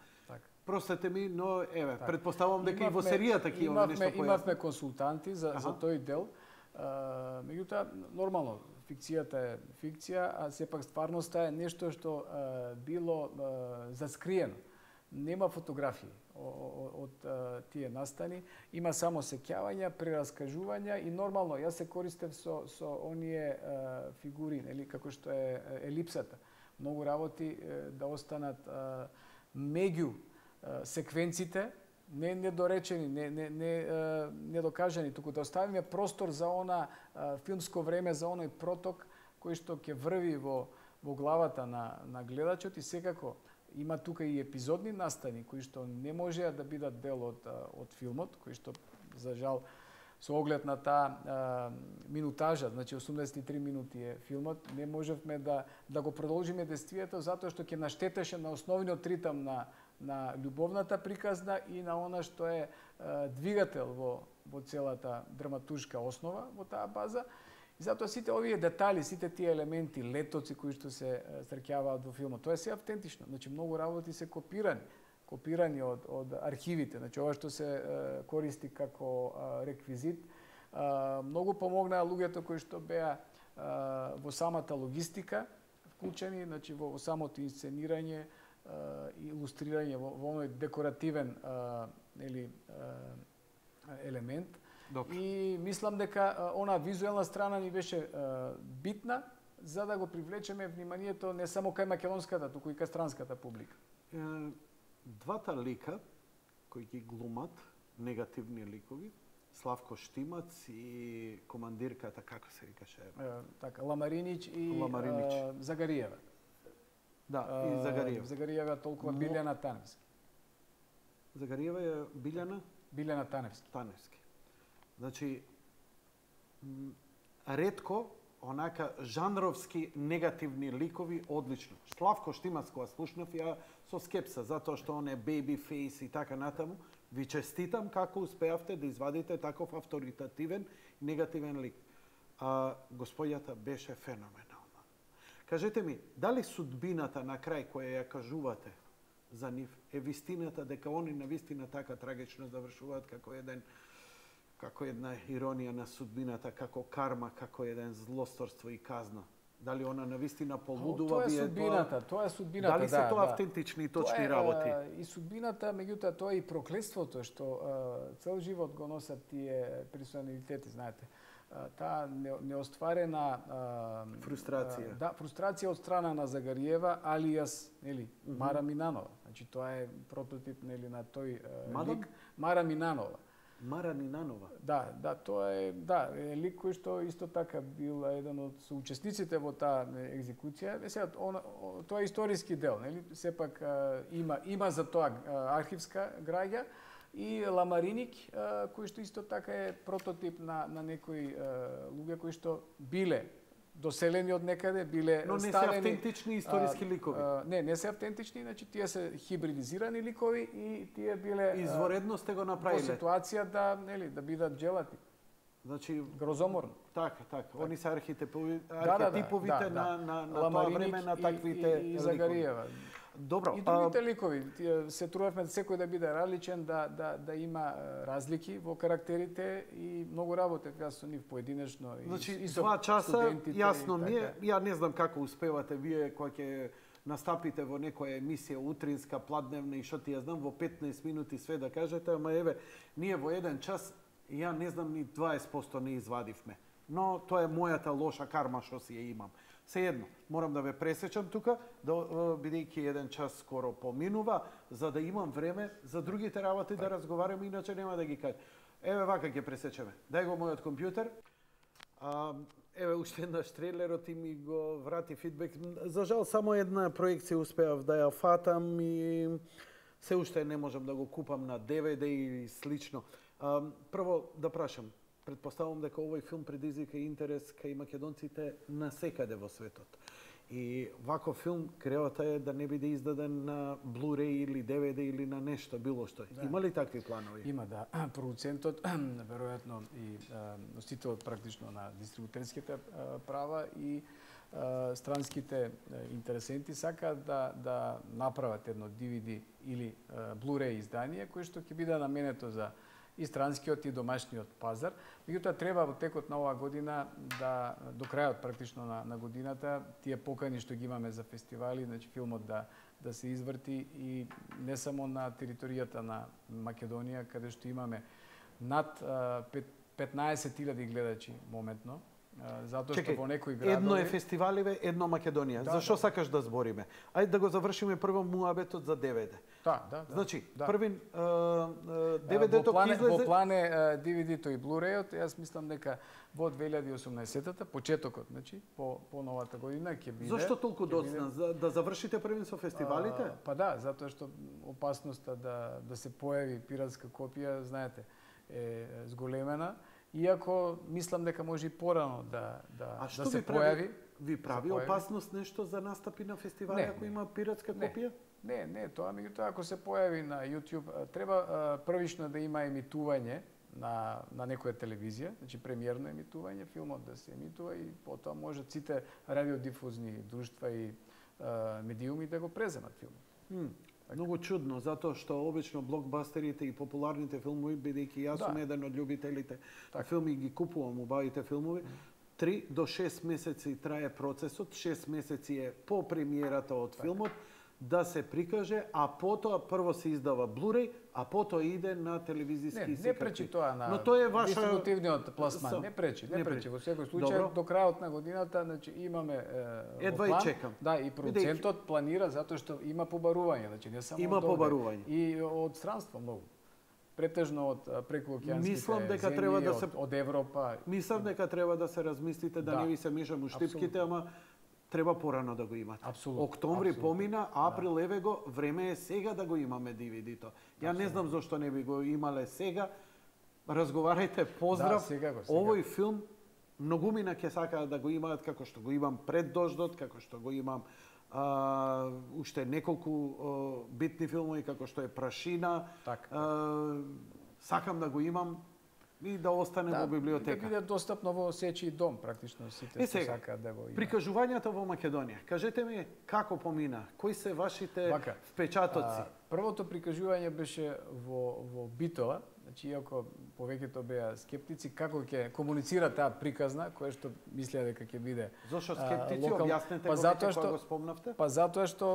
Простете ми, но предпоставувам дека и во серијата такива нешто појасно. Имавме консултанти за тој дел. Меѓутоа, нормално, фикцијата е фикција, а сепак стварноста е нешто што било заскриено. Нема фотографии од тие настани, има само сеќавања, прераскажувања и нормално, јас се користев со оние фигури, како што е елипсата. Многу работи да останат меѓу секвенците, не недоречени, не докажани, туку да оставиме простор за она филмско време, за оној проток кој што ќе врви во главата на гледачот и секако има тука и епизодни настани кои што не можеа да бидат дел од филмот, кои што за жал со оглед на таа минутажа, 83 минути е филмот, не можевме да го продолжиме действието затоа што ќе наштетеше на основниот ритам на љубовната приказна и на она што е двигател во целата драматуршка основа во таа база. И затоа сите овие детали, сите тие елементи, летоци кои што се стрекјаваат во филмот, тоа е се автентично. Многу работи се копирани од архивите. Ова што се користи како реквизит, многу помогнаа луѓето кои што беа во самата логистика вклучени, во самото инсценирање и илустрирање во оној декоративен елемент. И мислам дека она визуелна страна ни беше битна за да го привлечеме вниманието не само кај македонската, туку и кај странската публика. Двата лика кои ги глумат, негативни ликови, Славко Штимац и командирката, како се викаше? Ламаринич и Загариева. Да, и Загариева. Загариева толкова Билјана Таневски. Загариева е Билјана? Билјана Таневски. Ретко онака жанровски негативни ликови одлично. Славко Штимац кога слушнав ја со скепса затоа што он е baby face и така натаму. Ви честитам како успеавте да извадите таков авторитативен негативен лик. Господјата беше феноменална. Кажете ми, дали судбината на крај која ја кажувате за нив е вистината дека они на вистина така трагично завршуваат како една иронија на судбината, како карма, како еден злосторство и казна Дали она навистина полудува? Тоа е судбината, тоа е судбината, Дали се тоа автентични и точни работи? И судбината, меѓутоа тоа е и проклетството што цел живот го носат тие персоналитети, знаете. Таа неостварена фрустрација. Да, фрустрација од страна на Загариева, алијас, нели, Мара Минанова. Значи тоа е прототип, нели, на тој лик Мара Минанова. Мара Минанова. Да, тоа е, лик кој што исто така бил еден од соучесниците во таа екзекуција. Сега тоа е историски дел, нели? Сепак има за тоа архивска граѓа и Ламариник, кој што исто така е прототип на некои луѓе кои што биле доселени од некаде, биле но не ставени... се автентични историски ликови. Не се автентични, значи тие се хибридизирани ликови и тие биле изворедно сте го направиле. Во ситуација да бидат джелати. Значи грозоморно. Така. Они се архетиповите на тоа време на таквите и Загариева. Добро. И другите ликови, се трудевме секој да биде различен, да има разлики во карактерите и многу работев јас со нив поединечно. Значи, 2 часа, јасно ми е, ја не знам како успевате вие кога ќе настапите во некоја емисија утринска, пладневна и што ти ја знам, во 15 минути све да кажете, ама еве, ние во 1 час, ја не знам ни 20% не извадивме. Но тоа е мојата лоша карма што си ја имам. Сеедно, морам да ве пресечам тука, бидејќи 1 час скоро поминува, за да имам време за другите работи да разговараме, иначе нема да ги кажам. Еве вака ќе пресечеме. Дај го мојот компјутер. Еве уште еднаш трейлерот и ми го врати фидбек. За жал, само една проекција успеав да ја фатам и се уште не можам да го купам на DVD и слично. Прво да прашам, предпоставувам дека овој филм предизвика интерес кај македонците насекаде во светот. И ваков филм креата е да не биде издаден на Blu-ray или DVD или на нешто, било што. Да. Има ли такви планови? Има, да. Продуцентот, веројатно и носителот практично на дистрибутерските права и странските интересенти сакаат да направат едно DVD или Blu-ray издание кој што ќе биде наменето за и странскиот и домашниот пазар. Меѓутоа треба во текот на оваа година до крајот практично на годината тие покани што ги имаме за фестивали, значи филмот да се изврти и не само на територијата на Македонија каде што имаме над 15.000 гледачи моментно. Затоа што во некои градови... Едно е фестиваливе, едно Македонија. Зашо сакаш да збориме? Ајде да го завршиме прво муабетот за DVD. Да. Значи, првин DVD-то ќе излезе... Во план е DVD-то и Blu-ray-от, јас мислам дека во 2018-та, почетокот, значи, по новата година ќе биде... Зошто толку доцна? Да завршите првин со фестивалите? Па да, затоа што опасноста да се појави пиратска копија, знаете, е зголемена. Иако мислам дека може и порано да се појави. Ви прави опасност нешто за настапи на фестивали ако има пиратска копија? Не, тоа меѓутоа ако се појави на YouTube, треба првично да има емитување на некоја телевизија, значи премиерно емитување, филмот да се емитува и потоа можат сите радиодифузни друштва и медиуми да го преземат филмот. Многу чудно, затоа што обично блокбастерите и популарните филмови, бидејќи јас сум еден од љубителите на филми, ги купувам убавите филмови, 3 до 6 месеци трае процесот, 6 месеци е по премиерата од филмот, да се прикаже, а потоа прво се издава Blu-ray, а потоа иде на телевизиски секако. Не пречи тоа на дистрибутивниот пласман, не пречи. Во секој случај до крајот на годината, значи имаме едва и чекам. Да, и продуцентот планира затоа што има побарување, значи не само има побарување. И од странство многу. Претежно од прекуокеанските земји, од Европа. Мислам дека треба да се размислите да не ви се мешам уштипките, ама треба порано да го имате. Октомври помина, април еве го, време е сега да го имаме DVD-то. Ја не знам зошто не би го имале сега. Разговарајте, поздрав. Сега. Овој филм многумина ќе сакаат да го имаат како што го имам Пред дождот, како што го имам уште неколку битни филмови како што е Прашина. Сакам да го имам и да остане во библиотека. Да биде достапно во сечи дом, практично сите што сакаат да го имаат. Прикажувањата во Македонија. Кажете ми како помина? Кои се вашите впечатоци? Првото прикажување беше во Битола, Значи, иако повеќето беа скептици, како ќе комуницира таа приказна, која што мислеа дека ќе биде Зошто скептици? локал... Објаснете па го затоа веќе кога го спомнавте. Па затоа што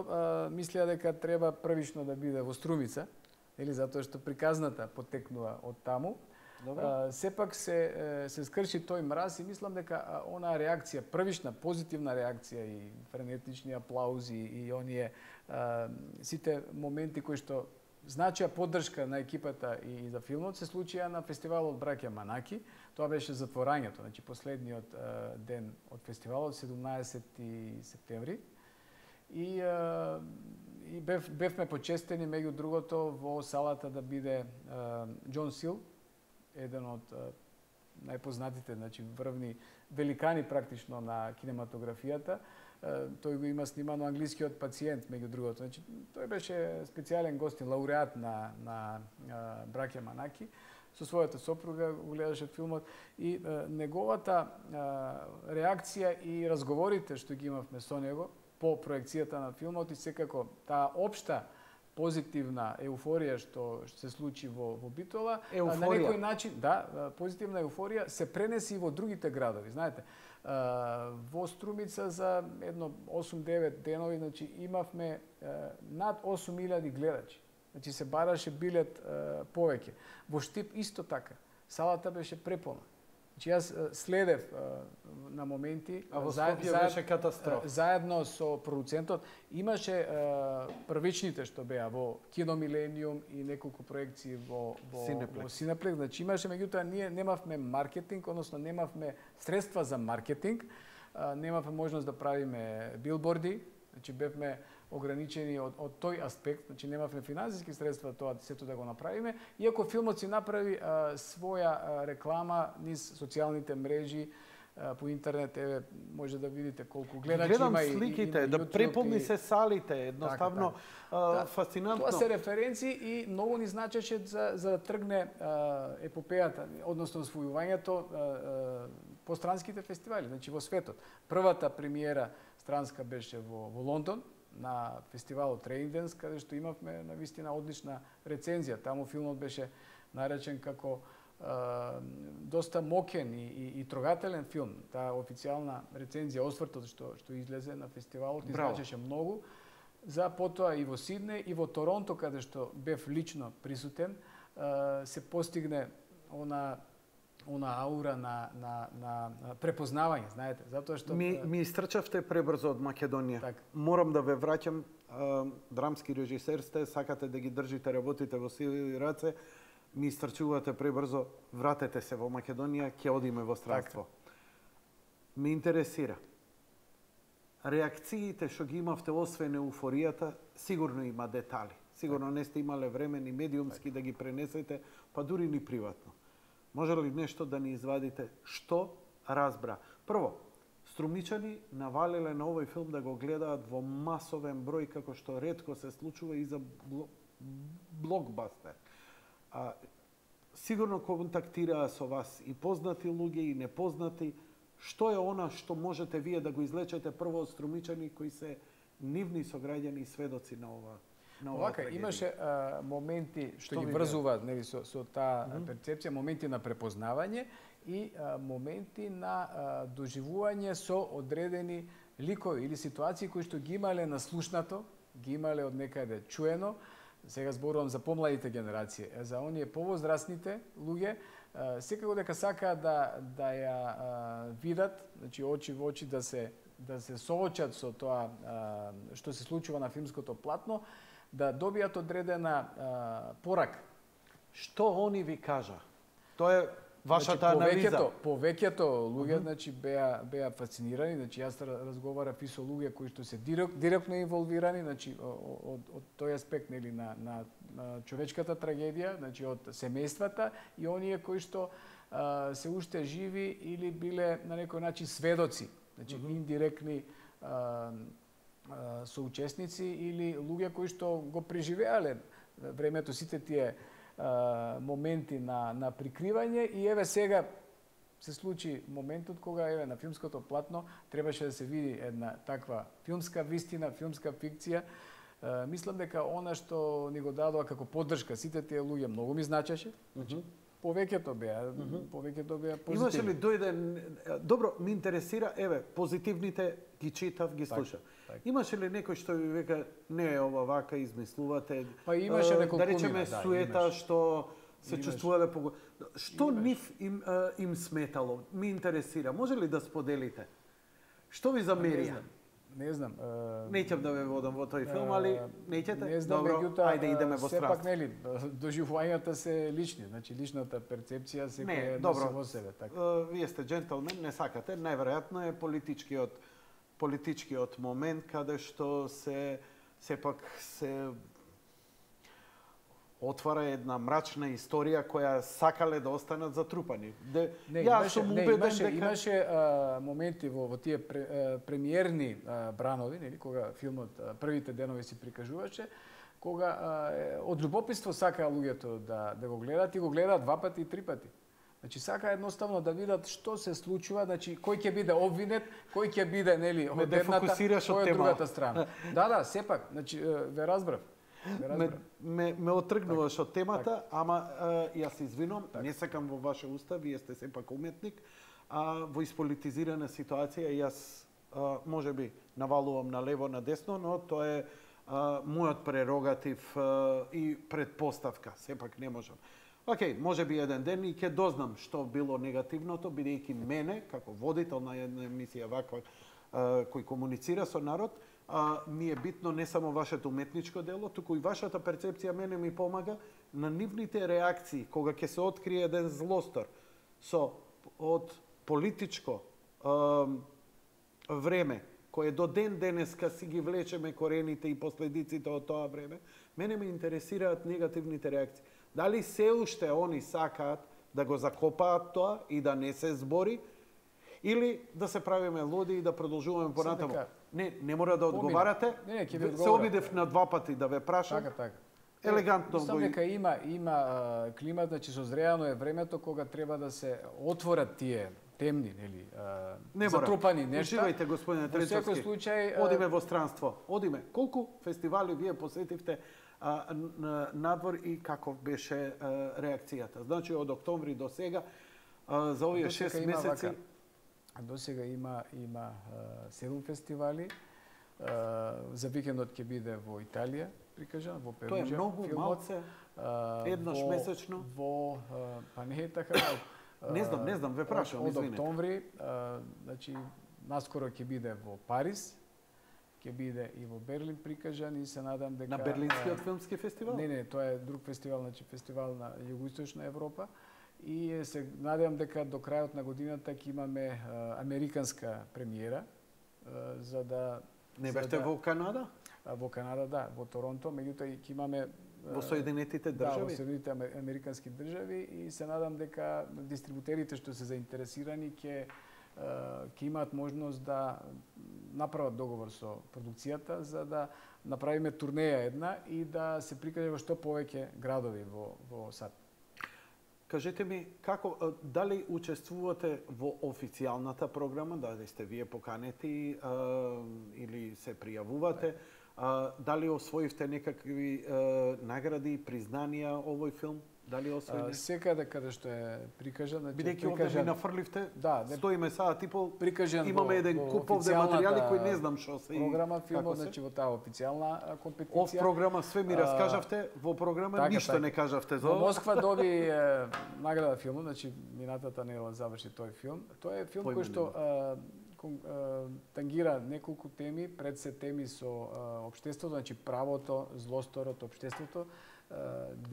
мислеа дека треба првично да биде во Струмица, или затоа што приказната потекнува од таму. Сепак се скрши тој мраз и мислам дека онаа реакција, првична позитивна реакција и френетични аплаузи и оние сите моменти кои што значија поддршка на екипата и за филмот се случија на фестивалот Браќа Манаки. Тоа беше затворањето, значи последниот ден од фестивалот, 17 септември. И бевме почестени меѓу другото во салата да биде Џон Сил, еден од најпознатите, значи врвни великани практично на кинематографијата. Тој го има снимано Англискиот пациент, меѓу другото. Значи, тој беше специјален гостин, лауреат на Браќа Манаки. Со својата сопруга го гледаше филмот и неговата реакција и разговорите што ги имавме со него по проекцијата на филмот и секако таа општа позитивна еуфорија што се случи во Битола, на некој начин, позитивна еуфорија се пренеси и во другите градови, знаете. Во Струмица за едно 8-9 денови, значи имавме над 8000 гледачи. Значи се бараше билет повеќе. Во Штип исто така. Салата беше преполна. Значи јас следев на моменти, а во Скопје беше катастрофа. Заедно со продуцентот имаше првичните што беа во Кино Милениум и неколку проекции во Синеплекс. Значи имаше, меѓутоа ние немавме маркетинг, односно немавме средства за маркетинг, немавме можност да правиме билборди, значи бевме ограничени од тој аспект, значи немавме финансиски средства тоа сето да го направиме, иако филмот си направи своја реклама низ социјалните мрежи, по интернет, еве може да видите колку гледачи има и сликите, и да преполни се салите, едноставно фасцинантно. Тоа се референции и многу ни значеше за да тргне епопејата, односно освојувањето по странските фестивали, значи во светот. Првата премиера странска беше во Лондон, на фестивалот Рейнденс, каде што имавме навистина одлична рецензија. Таму филмот беше наречен како доста мокен и трогателен филм. Таа официјална рецензија, освртот што излезе на фестивалот, значеше многу. За потоа и во Сиднеј и во Торонто, каде што бев лично присутен, се постигне она аура на препознавање, знаете, затоа што ми истрчавте пребрзо од Македонија. Так. Морам да ве враќам, драмски режисер сте, сакате да ги држите работите во сиви раце, ми истрчувате пребрзо, вратете се во Македонија, ќе одиме во странство. Ме интересира. Реакциите што ги имавте освен еуфоријата, сигурно има детали. Сигурно не сте имале време ни медиумски да ги пренесете, па дури ни приватно. Може ли нешто да ни извадите? Што разбра? Прво, струмичани навалиле на овој филм да го гледаат во масовен број, како што ретко се случува и за блокбастер. Сигурно контактираа со вас и познати луѓе и непознати. Што е она што можете вие да го излечете прво од струмичани кои се нивни сограѓани и сведоци на ова? Овака, имаше моменти што ги врзуваат со таа перцепција, моменти на препознавање и моменти на доживување со одредени ликови или ситуации кои што ги имале наслушнато, ги имале од некаде чуено. Сега зборувам за помладите генерации. За оние повозрастните луѓе, секако дека сакаат да ја видат, значи очи во очи да се соочат со тоа што се случува на филмското платно, да добијат одредена порака. Што они ви кажа? Тоа е вашата анализа. Повеќето луѓе значи беа фасцинирани, значи јас разговарав и со луѓе кои што се директно инволвирани, значи од тој аспект нели на човечката трагедија, значи од семејствата и оние кои што се уште живи или биле на некој начин сведоци, значи индиректни соучесници или луѓе кои што го преживеале времето сите тие моменти на прикривање и еве сега се случи моментот кога еве на филмското платно требаше да се види една таква филмска вистина, филмска фикција Мислам дека она што ни го дадоа како поддршка сите тие луѓе многу ми значеше. Значи, повеќето беа позитивни. Имаше ли дојде добро, ми интересира, еве, позитивните ги читав, ги слушав. Имаше ли некој што ви века не е ова вака измислувате? Па имаше неколку да речеме суета што се чувствувале по што нив им сметало? Ми интересира. Може ли да споделите? Што ви замерија? Не знам. Неќам да ве водам во тој филм, али неќете? Не знам, добро, ајде идеме во страст. Сепак нели доживувањата се лични, значи личната перцепција секој носи во себе, така. Вие сте джентълмен, не сакате, најверојатно е политичкиот момент каде што сепак се отвара една мрачна историја која сакале да останат затрупани. Имаше моменти во тие премиерни бранови, нели, кога филмот првите денови се прикажуваше, кога од љубопитство сакаа луѓето да го гледат и го гледаат 2 пати и 3 пати. Значи сака едноставно да видат што се случува, значи кој ќе биде обвинет, кој ќе биде нели од едната, кој од другата страна. Да, сепак, значи ве разбрав. Ме отргнуваш од темата, ама јас се извинувам, не сакам во ваше уста, вие сте сепак уметник, во исполитизирана ситуација јас можеби навалувам на лево, на десно, но тоа е мојот прерогатив и предпоставка, сепак не можам. Океј, можеби еден ден и ќе дознам што било негативното, бидејќи мене, како водител на една емисија ваква, кој комуницира со народ, ми е битно не само вашето уметничко дело, туку и вашата перцепција мене ми помага на нивните реакции, кога ќе се открие еден злостор од политичко време, кое до ден денеска си ги влечеме корените и последиците од тоа време, мене ме интересираат негативните реакции. Дали се уште они сакаат да го закопаат тоа и да не се збори, или да се правиме луди и да продолжуваме понатаму. Не мора да одговарате. Се обидев на 2 пати да ве прашам. Така. Елегантно го дека има климат, значи созреано е времето кога треба да се отворат тие темни, нели, затрупани нешта. Уживајте, господине Трецовски. Во секој случај одиме во странство. Одиме. Колку фестивали вие посетивте надвор и каков беше реакцијата? Значи од октомври до сега за овие 6 месеци до сега има 7 фестивали. За викендот ќе биде во Италија, прикажан, во Перуџа. Тоа е многу малце, еднаш месечно. Па не е така. Не знам, ве прашам, извинете. Од октомври, значи, наскоро ќе биде во Париз, ќе биде и во Берлин прикажан и се надам дека... На Берлинскиот филмски фестивал? Не, тоа е друг фестивал, значи фестивал на Југоисточна Европа. И се надевам дека до крајот на годината ќе имаме американска премиера, за да... Не бевте во Канада? Во Канада, да, во Торонто, меѓутоа ќе имаме... Во Соединетите држави? Да, во Соединетите американски држави и се надам дека дистрибутерите што се заинтересирани ќе имаат можност да направат договор со продукцијата за да направиме турнеја една и да се прикаже во што повеќе градови во САД. Кажете ми, дали учествувате во официјалната програма, дали сте вие поканети или се пријавувате, дали освоивте некакви награди, признанија овој филм? Дали освоите? Секаде каде што е прикажан, значи бидејќи овде ми нафрливте, стоиме сега типол, прикажан имаме еден куп овде материјали кои не знам што се. Програма филмот, значи во таа официјална компетиција. Ов програма све ми раскажавте, во програма ништо не кажавте за ова. Во Москва доби награда филмот, значи минатата недела заврши тој филм. Тоа е филм кој што тангира неколку теми, пред се теми со општеството, значи правото, злосторот, општеството.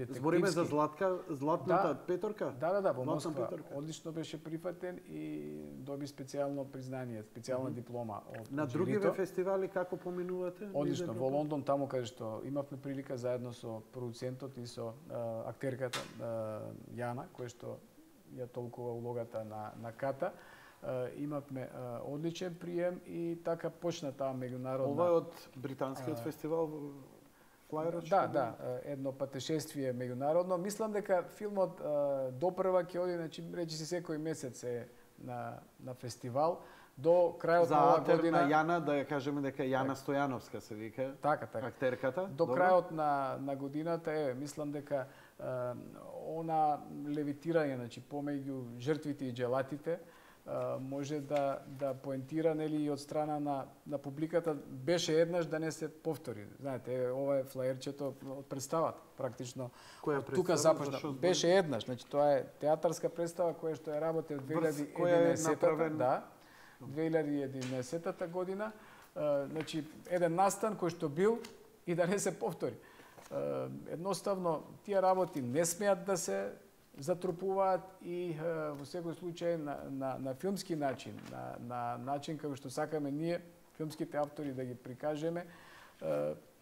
Збориме за златната петорка? Да, во Москва. Одлично беше прифатен и доби специјално признание, специјална диплома од на другиве фестивали како поминувате? Одлично, во Лондон, таму каде што имавме прилика заедно со продуцентот и со актерката Јана, која што ја толкува улогата на Ката. Имавме одличен прием и така почна таа меѓународна... Ова е од британскиот фестивал Флајерот? Да, едно патешествие меѓународно. Мислам дека филмот допрва ќе оди, значи речи се секој месец е на фестивал до крајот за на оваа година. За Јана, да ја кажеме дека Јана Стојановска се вика. Така. Актерката. До крајот на годината, мислам дека она левитирање, значи помеѓу жртвите и джелатите, може да поентира, нели, и од страна на публиката, беше еднаш да не се повтори. Знаете, ова е флаерчето од представата, практично. Тука започна. Беше еднаш, значи тоа е театарска представа која што ја работи од 2011-та, да, 2011 година, значи еден настан кој што бил и да не се повтори. Едноставно тие работи не смеат да се затрупуваат и во секој случај на филмски начин, на начин како што сакаме ние, филмските автори, да ги прикажеме.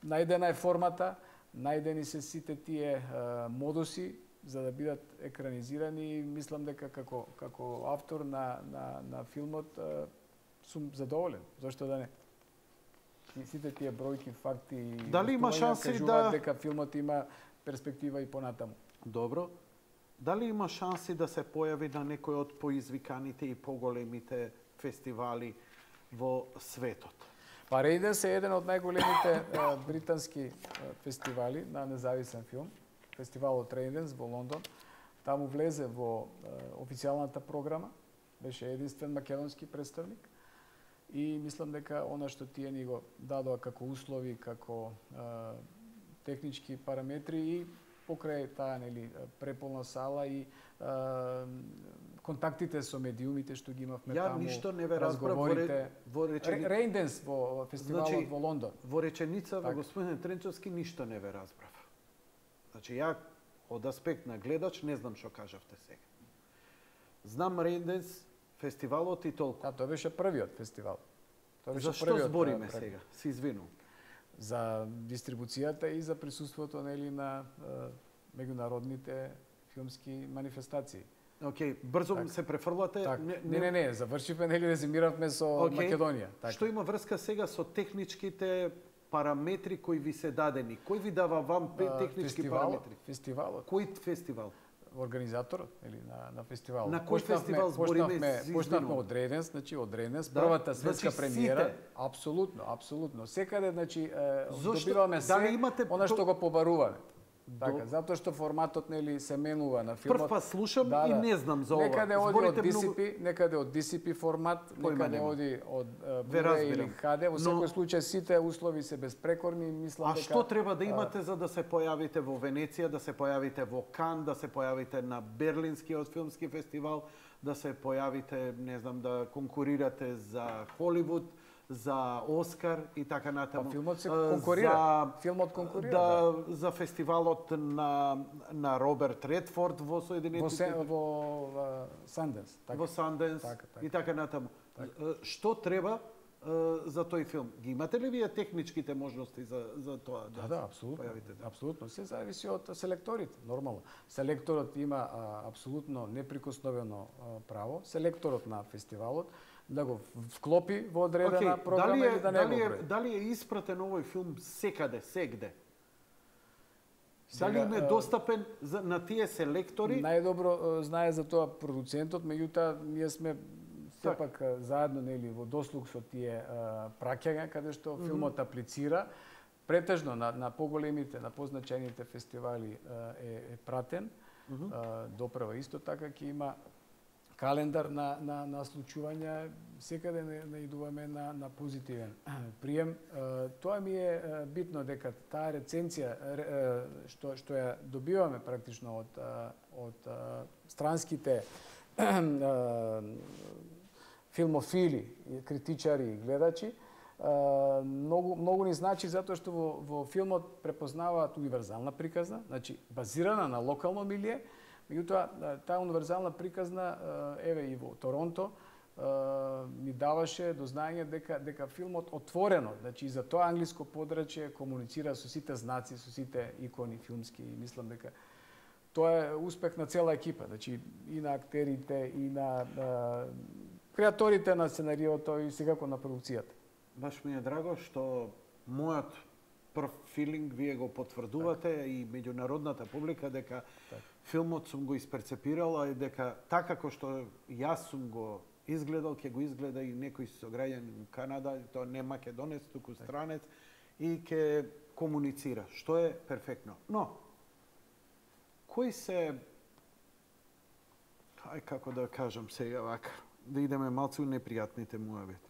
Најдена е формата, најдени се сите тие модуси за да бидат екранизирани и мислам дека како автор на филмот сум задоволен. Зошто да не? И сите тие бројки, факти и дали има шанси дека филмот има перспектива и понатаму. Добро. Дали има шанси да се појави на некој од поизвиканите и поголемите фестивали во светот? Па Рейденс е еден од најголемите британски фестивали на независен филм. Фестивалот Рейденс во Лондон. Таму влезе во официјалната програма. Беше единствен македонски представник. И мислам дека она што тие ни го дадоа како услови, како технички параметри и покрај таа, нели, преполна сала и контактите со медиумите што ги имавме таму. Ја ништо не ве разбрав во Рейнденс во фестивалот во Лондон. Во реченица во господин Тренчовски ништо не ве разбрав. Значи ја од аспект на гледач не знам што кажавте сега. Знам Рейнденс фестивалот и толку. Да, тоа беше првиот фестивал. За што збориме сега? Се извинувам. За дистрибуцијата и за присуството, нели, на меѓународните филмски манифестации. Океј, брзо се префрлате. Не, завршивме, нели, резимиравме со Македонија. Што има врска сега со техничките параметри кои ви се дадени? Кој ви дава вам технички параметри? Фестивалот. Кој фестивал? Организаторот, или на фестивалот. На кој фестивал збориме? Почнавме од Рейденс, значи од Рейденс, првата светска премиера. Апсолутно. Секаде, значи, добиваме се она што го побаруваме. Така, затоа што форматот, нели, се менува на филмот. Прв пат слушам и не знам за ова. Некаде од DCP формат, некаде оди од Blu-ray или HD. Во секој случај сите услови се безпрекорни, мислам дека. А што треба да имате за да се појавите во Венеција, да се појавите во Кан, да се појавите на Берлинскиот филмски фестивал, да се појавите, не знам, да конкурирате за Холивуд, за Оскар и така натаму. Филмот се конкурира. Филмот конкурира. За фестивалот на Роберт Редфорд во Соединетите во Санденс. Во Санденс и така натаму. Што треба за тој филм? Ги имате ли вие техничките можности за тоа? Да, апсолутно. Апсолутно. Се зависи од селекторите, нормално. Селекторот има апсолутно неприкосновено право. Селекторот на фестивалот да го вклопи во одредена програма или да не го прави. Дали е испратен овој филм секаде, сегде? Дали им е достапен на тие селектори? Најдобро знае за тоа продуцентот, меѓутоа ние сме сепак заедно, нели, во дослуг со тие праќања каде што филмот аплицира. Претежно на поголемите, на позначајните фестивали е пратен. Допрева исто така ќе има календар на случувања, секаде наидуваме на позитивен прием. Тоа ми е битно дека таа рецензија што ја добиваме практично од странските филмофили, критичари и гледачи, многу ни значи затоа што во филмот препознаваат универзална приказна, значи базирана на локално милие. Меѓутоа, таа универзална приказна, еве и во Торонто, ми даваше до знаење дека филмот отворено, значи и за тоа англиско подрачје комуницира со сите знаци, со сите икони филмски и мислам дека тоа е успех на цела екипа, значи и на актерите, и на креаторите на сценариото и секако на продукцијата. Баш ми е драго што мојот прв филинг вие го потврдувате и меѓународната публика дека филмот сум го исперцепирала и дека така како што јас сум го изгледал, ќе го изгледа и некој сограѓанин во Канада, тоа не македонец, туку странец, и ќе комуницира, што е перфектно. Но, кои се, како да кажам сега вака, да идеме малку непријатните муабет.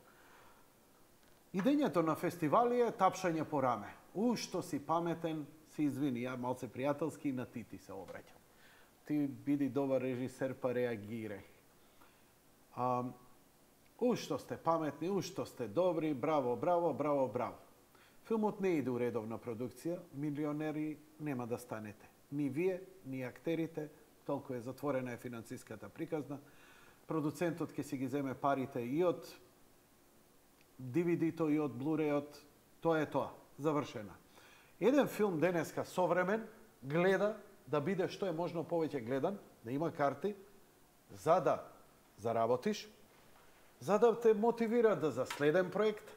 Идењето на фестивали е тапшање по раме. Што си паметен, се извини, ја малце пријателски и на ти се обраќам. Ти биди добар режисер, па реагирај. Што сте паметни, што сте добри, браво, браво, браво, браво. Филмот не иде у редовна продукција, милионери нема да станете. Ни вие, ни актерите, толку е затворена е финансиската приказна. Продуцентот ќе си ги земе парите и од DVD-то и од Blu-ray-от, тоа е тоа, завршена. Еден филм денеска современ гледа да биде што е можно повеќе гледан, да има карти, за да заработиш, за да те мотивира да за следен проект,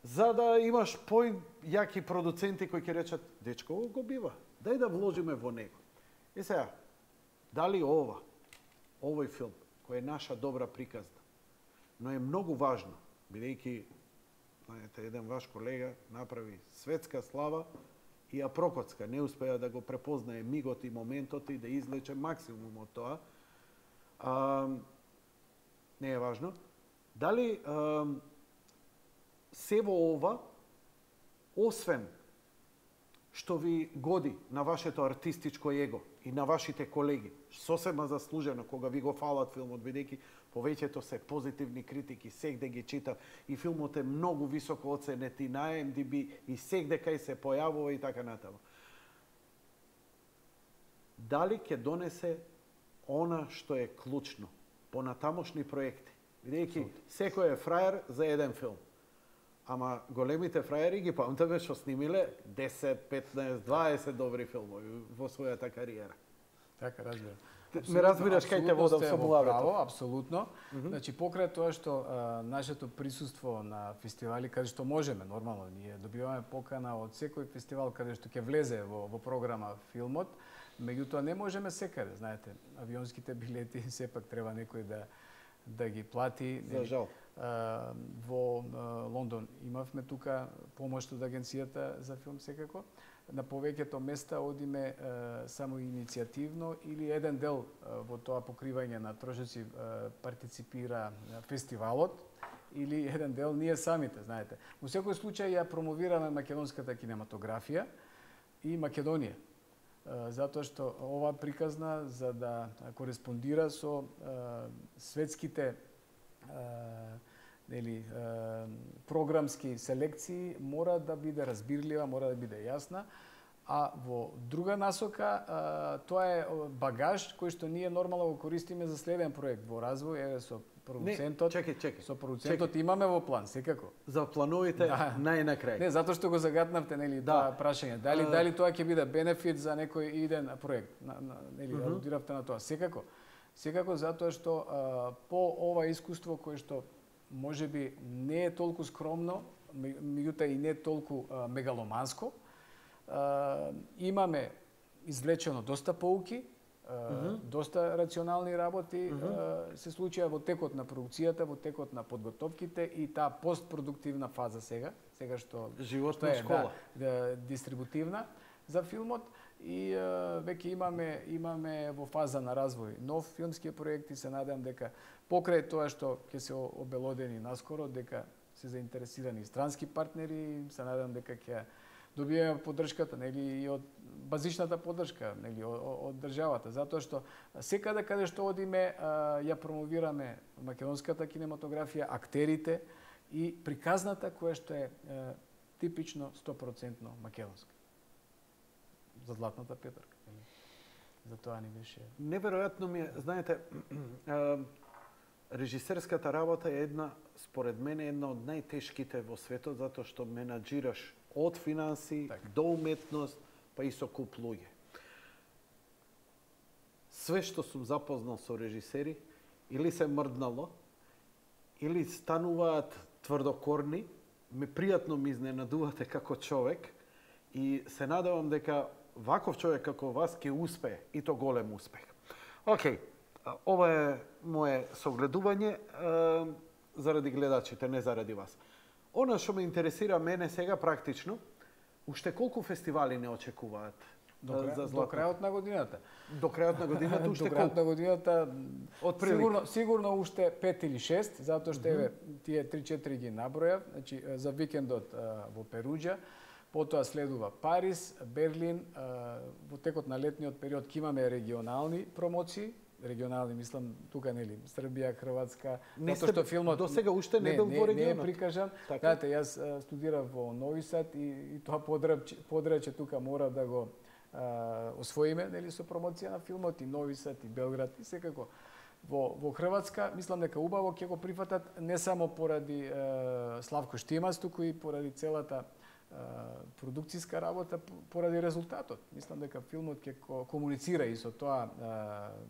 за да имаш појаки продуценти кои ќе речат, дечко, го бива, дај да вложиме во него. И сега, дали овој филм, кој е наша добра приказна, но е многу важно, бидејќи, знаете, еден ваш колега направи светска слава и ја прокоцка, не успеа да го препознае мигот и моментот и да излече максимум од тоа. Не е важно. Дали се во ова, освен што ви годи на вашето артистичко его и на вашите колеги, сосема заслужено кога ви го фалат филмот, бидејќи повеќето се позитивни критики, сегде ги читав и филмот е многу високо оценет и на IMDb и сегде кај се појавува и така натаму. Дали ќе донесе она што е клучно понатамошни проекти? Бидејќи секој е фраер за еден филм. Ама големите фраери ги памтаме што снимиле 10, 15, 20 добри филмови во својата кариера. Така, разбирам. Ме разбираш кај те водам со муабетот. Апсолутно. Значи, покрај тоа што нашето присуство на фестивали, каде што можеме, нормално, ние добиваме покана од секој фестивал каде што ќе влезе во програма филмот, меѓутоа не можеме секаде, знаете, авионските билети сепак треба некој да ги плати. За жал. Во Лондон имавме тука помош од агенцијата за филм секако. На повеќето места одиме само иницијативно или еден дел во тоа покривање на трошоци партиципира фестивалот или еден дел ние самите, знаете. Во секој случај ја промовираме македонската кинематографија и Македонија. Затоа што ова приказна за да кореспондира со светските програмски селекции мора да биде разбирлива, мора да биде јасна, а во друга насока тоа е багаж кој што ние нормално го користиме за следен проект во развој, еве со продуцентот. Чекај. Со продуцентот имаме во план секако. За плановите најнакрај. Не, затоа што го загатнавте, нели, тоа прашање. Дали тоа ќе биде бенефит за некој иден проект, нели, алудиравте на тоа. Секако затоа што по ова искуство кое што можеби не е толку скромно, меѓутоа и не толку мегаломанско, имаме извлечено доста поуки, доста рационални работи се случија во текот на продукцијата, во текот на подготовките и таа постпродуктивна фаза сега што животна школа, дистрибутивна за филмот и веќе имаме во фаза на развој нов филмски проект и се надевам дека покрај тоа што ќе се обелодени наскоро, дека се заинтересирани странски партнери, се надевам дека ќе добиеме поддршката, нели, и од базичната поддршка, нели, од државата, затоа што секаде каде што одиме ја промовираме македонската кинематографија, актерите и приказната која што е типично 100% македонска. За златната петарка. За тоа ни беше. Неверојатно ми е, знаете, режисерската работа е според мене една од најтешките во светот, затоа што менаџираш од финанси до уметност, па и со куп луѓе. Све што сум запознал со режисери, или се мрднало, или стануваат тврдокорни, пријатно ми изненадувате како човек, и се надевам дека ваков човек како вас ќе успее и то голем успех. Океј, ова е мое согледување заради гледачите, не заради вас. Она што ме интересира мене сега практично, уште колку фестивали не очекуваат? До крајот на годината. До крајот на годината уште колку? До крајот на годината сигурно уште 5 или 6, затоа што еве тие 3-4 ги набројав, значи за викендот во Перуџа, потоа следува Париз, Берлин, во текот на летниот период ќе имаме регионални промоции, регионални, мислам, тука нели Србија, Хрватска, затоа што филмот до сега уште не бил во регионот. Не е прикажан. Знаете, јас студирав во Нови Сад и тоа подрече тука мора да го освоиме, нели, со промоција на филмот и Нови Сад и Белград и секако. Во Хрватска мислам дека убаво ќе го прифатат не само поради Славко Штимац, туку и поради целата продукцијска работа, поради резултатот. Мислам дека филмот ќе комуницира и со тоа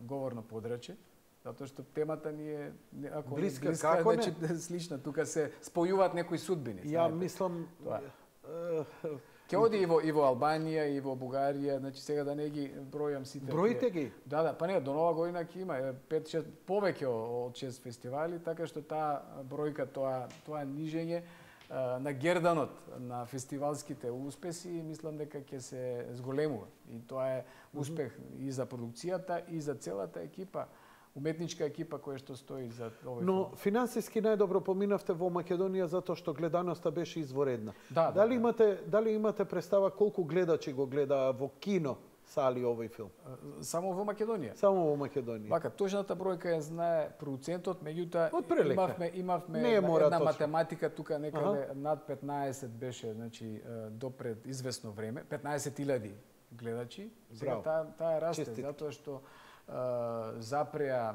говорно подрачје, затоа што темата ни е ако блиска, како значи слична, тука се спојуваат некои судбини. Ја мислам Ќе оди и во Албанија, и во Бугарија, значи сега да не ги бројам сите. Броите ги? Да, па не, до нова година ќе има 5-6 повеќе од 6 фестивали, така што таа бројка, тоа нижење на герданот на фестивалските успеси, мислам дека ќе се зголемува. И тоа е успех и за продукцијата, и за целата екипа, уметничка екипа која што стои за овој филм. Но финансиски најдобро поминавте во Македонија затоа што гледаноста беше изворедна. Дали имате представа колку гледачи го гледаа во кино сали овој филм? Само во Македонија. Само во Македонија. Вака, точната бројка ја знае продуцентот, меѓутоа имавме една точно математика тука некаде над 15 беше, значи допред известно време, 15.000 гледачи. Сега таа расте затоа што запреа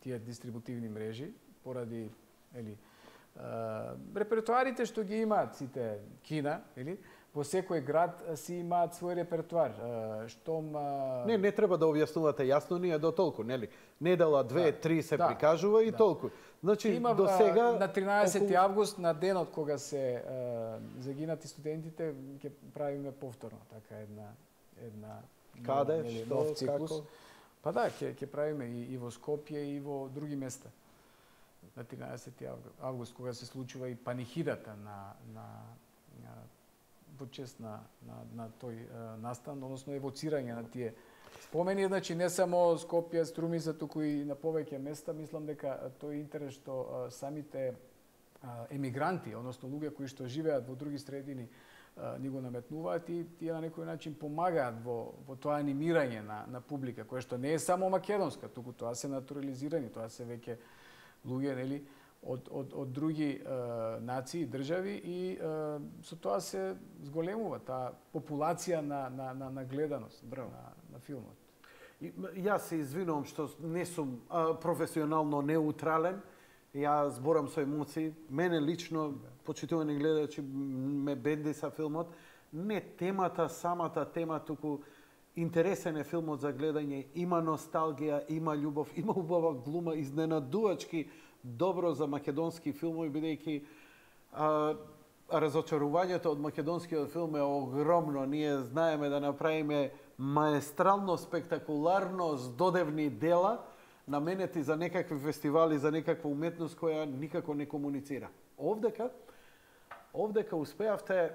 тие дистрибутивни мрежи поради репертуарите што ги имаат сите кина, во секој град си имаат свој репертуар. Штом Не треба да објаснувате, јасно ни е до толку, нели? Недела 2-3 се прикажува и толку. Значи до сега на 13 август, на денот кога се загинати студентите, ќе правиме повторно така една Каде, што, како? Па да, ќе правиме и во Скопје и во други места. На 13 август, кога се случува и панихидата во чест на тој настан, односно евоцирање на тие спомени, значи не само Скопје, Струмица, туку и на повеќе места. Мислам дека тој интерес што самите емигранти, односно луѓе кои што живеат во други средини, ни го наметнуваат и тие на некој начин помагаат во тоа анимирање на публика, кое што не е само македонска, туку тоа се натурализирани, тоа се веќе луѓе, нели, од други нации, држави и со тоа се зголемува таа популација на гледаност на филмот. Јас се извинувам што не сум професионално неутрален. Ја зборам со емоции. Мене лично, почитувани гледачи, ме бендиса филмот. Не темата, самата тема, туку интересен е филмот за гледање. Има носталгија, има љубов, има убава глума, изненадувачки добро за македонски филмови, бидејќи разочарувањето од македонскиот филм е огромно. Ние знаеме да направиме маестрално, спектакуларно, здодевни дела, наменети за некакви фестивали, за некаква уметност која никако не комуницира. Овдека успеавте,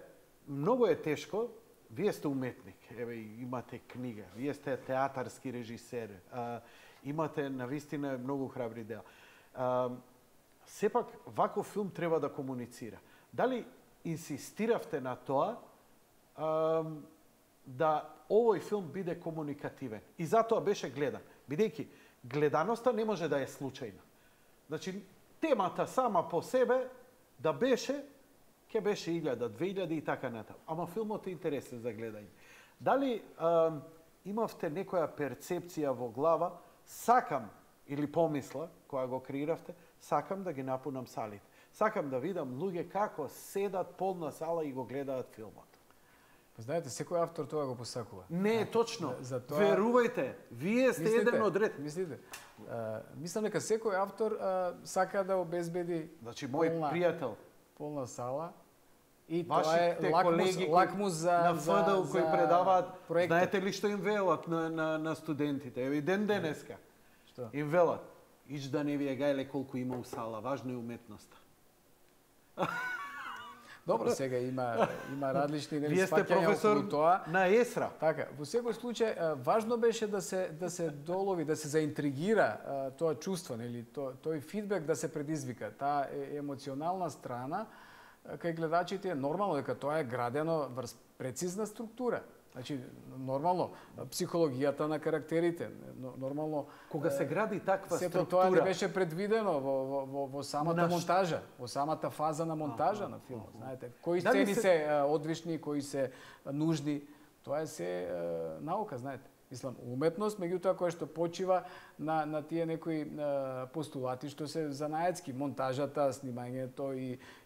многу е тешко, вие сте уметник, еве имате книга, вие сте театарски режисер, имате навистина многу храбри дела. Сепак, ваков филм треба да комуницира. Дали инсистиравте на тоа да овој филм биде комуникативен? И затоа беше гледан, бидејќи гледаноста не може да е случајна. Значи, темата сама по себе да беше, ќе беше 1000, 2000 и така натаму. Ама филмот е интересен за гледање. Дали имавте некоја перцепција во глава, сакам, или помисла, која го креиравте, сакам да ги напунам салите. Сакам да видам луѓе како седат полна сала и го гледаат филмот. Знаете, секој автор тоа го посакува. Не е точно. Верувајте, вие сте еден од ред. Мислите? Мислам дека секој автор сака да обезбеди мој пријател полна сала И тоа е лакмус за на ФДУ кои предаваат, проекта. знаете ли што им велат на студентите? Еви ден денеска. Што? Им велат, ич да не ви е гајле колку има у сала, важно е уметноста. Добро, сега има различни Вие сте сваќања професор околу тоа. на ЕСРА. Така, во секој случај важно беше да се долови, да се заинтригира тоа чувство, нели, тој фидбек да се предизвика, таа емоционална страна кај гледачите е нормално дека тоа е градено врз прецизна структура. Значи, нормално, психологијата на карактерите, нормално... Кога се гради таква сето структура... тоа не беше предвидено во самата монтажа, во самата фаза на монтажа на филмот. Знаете, кои сцени се одвишни, кои се нужни, тоа е се наука, знаете. Мислам, уметност, меѓутоа која што почива на тие некои постулати што се занаетски, монтажата, снимањето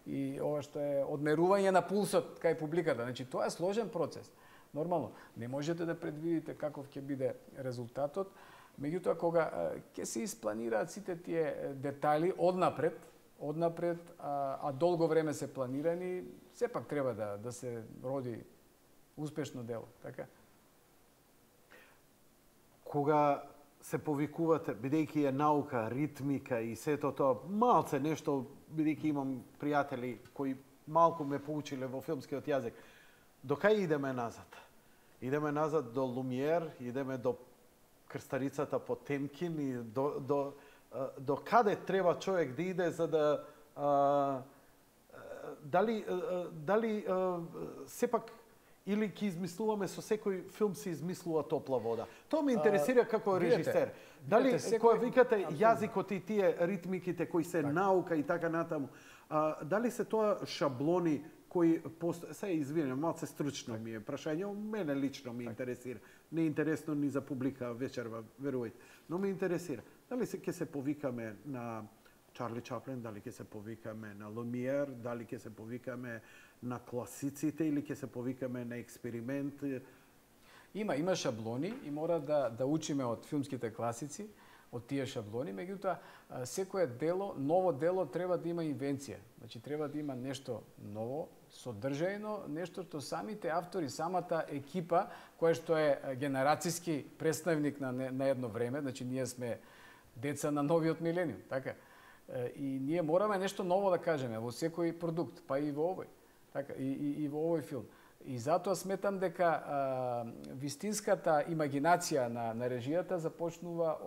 и ова што е одмерување на пулсот кај публиката. Значи, тоа е сложен процес. Нормално, не можете да предвидите каков ќе биде резултатот, меѓутоа кога ќе се испланираат сите тие детали однапред, а долго време се планирани, сепак треба да се роди успешно дело, така? Кога се повикувате, бидејќи е наука, ритмика и сето тоа, малце нешто, бидејќи имам пријатели кои малку ме поучиле во филмскиот јазик, до кај идеме назад? Идеме назад до Лумиер, идеме до Крстарицата Потемкин и до каде треба човек да иде за да дали сепак или ќе измислуваме со секој филм се измислува топла вода. Тоа ме интересира како режисер. Дали кога викате јазикот и тие ритмиките кои се наука и така натаму, дали се тоа шаблони кои се извинувам, малце стручно ми е прашање, мене лично ми интересира. Не е интересно ни за публика вечерва, верувајте, но ме интересира. Дали ќе се повикаме на Чарли Чаплин, дали ќе се повикаме на Лумиер, дали ќе се повикаме на класиците или ќе се повикаме на експеримент? Има шаблони и мора да учиме од филмските класици, од тие шаблони, меѓутоа секое дело, ново дело треба да има инвенција. Значи треба да има нешто ново, содржајно, нешто што самите автори, самата екипа, која што е генерацијски представник на едно време, значи ние сме деца на новиот милениум, така? И ние мораме нешто ново да кажеме во секој продукт, па и во овој, така, и во овој филм. И затоа сметам дека вистинската имагинација на режијата започнува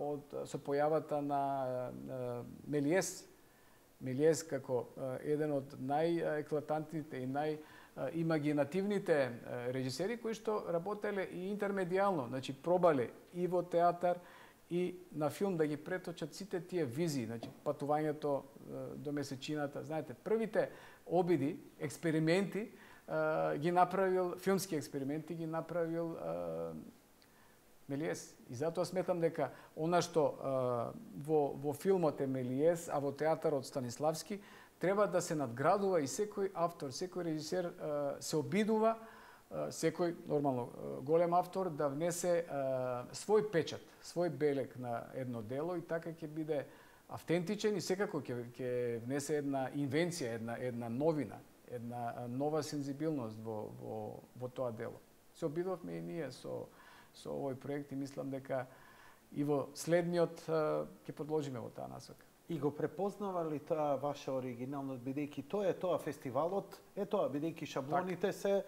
со појавата на Мелиес. Мелиес како еден од најеклатантните и најимагинативните режисери кои што работеле и интермедијално, значи пробале и во театар и на филм да ги преточат сите тие визии, значи патувањето до месечината, знаете, првите обиди, експерименти ги направил, филмски експерименти ги направил Мелиес. И затоа сметам дека она што во филмот е Мелиес, а во театарот Станиславски, треба да се надградува и секој автор, секој режисер се обидува, секој, нормално, голем автор да внесе свој печат, свој белег на едно дело и така ќе биде автентичен и секако ќе внесе една инвенција, една новина, една нова сензибилност во тоа дело. Се обидовме и ние со овој проект и мислам дека и во следниот ќе продолжиме во таа насока. И го препознава ли таа ваша оригиналност, бидејќи тоа е тоа фестивалот, бидејќи шаблоните се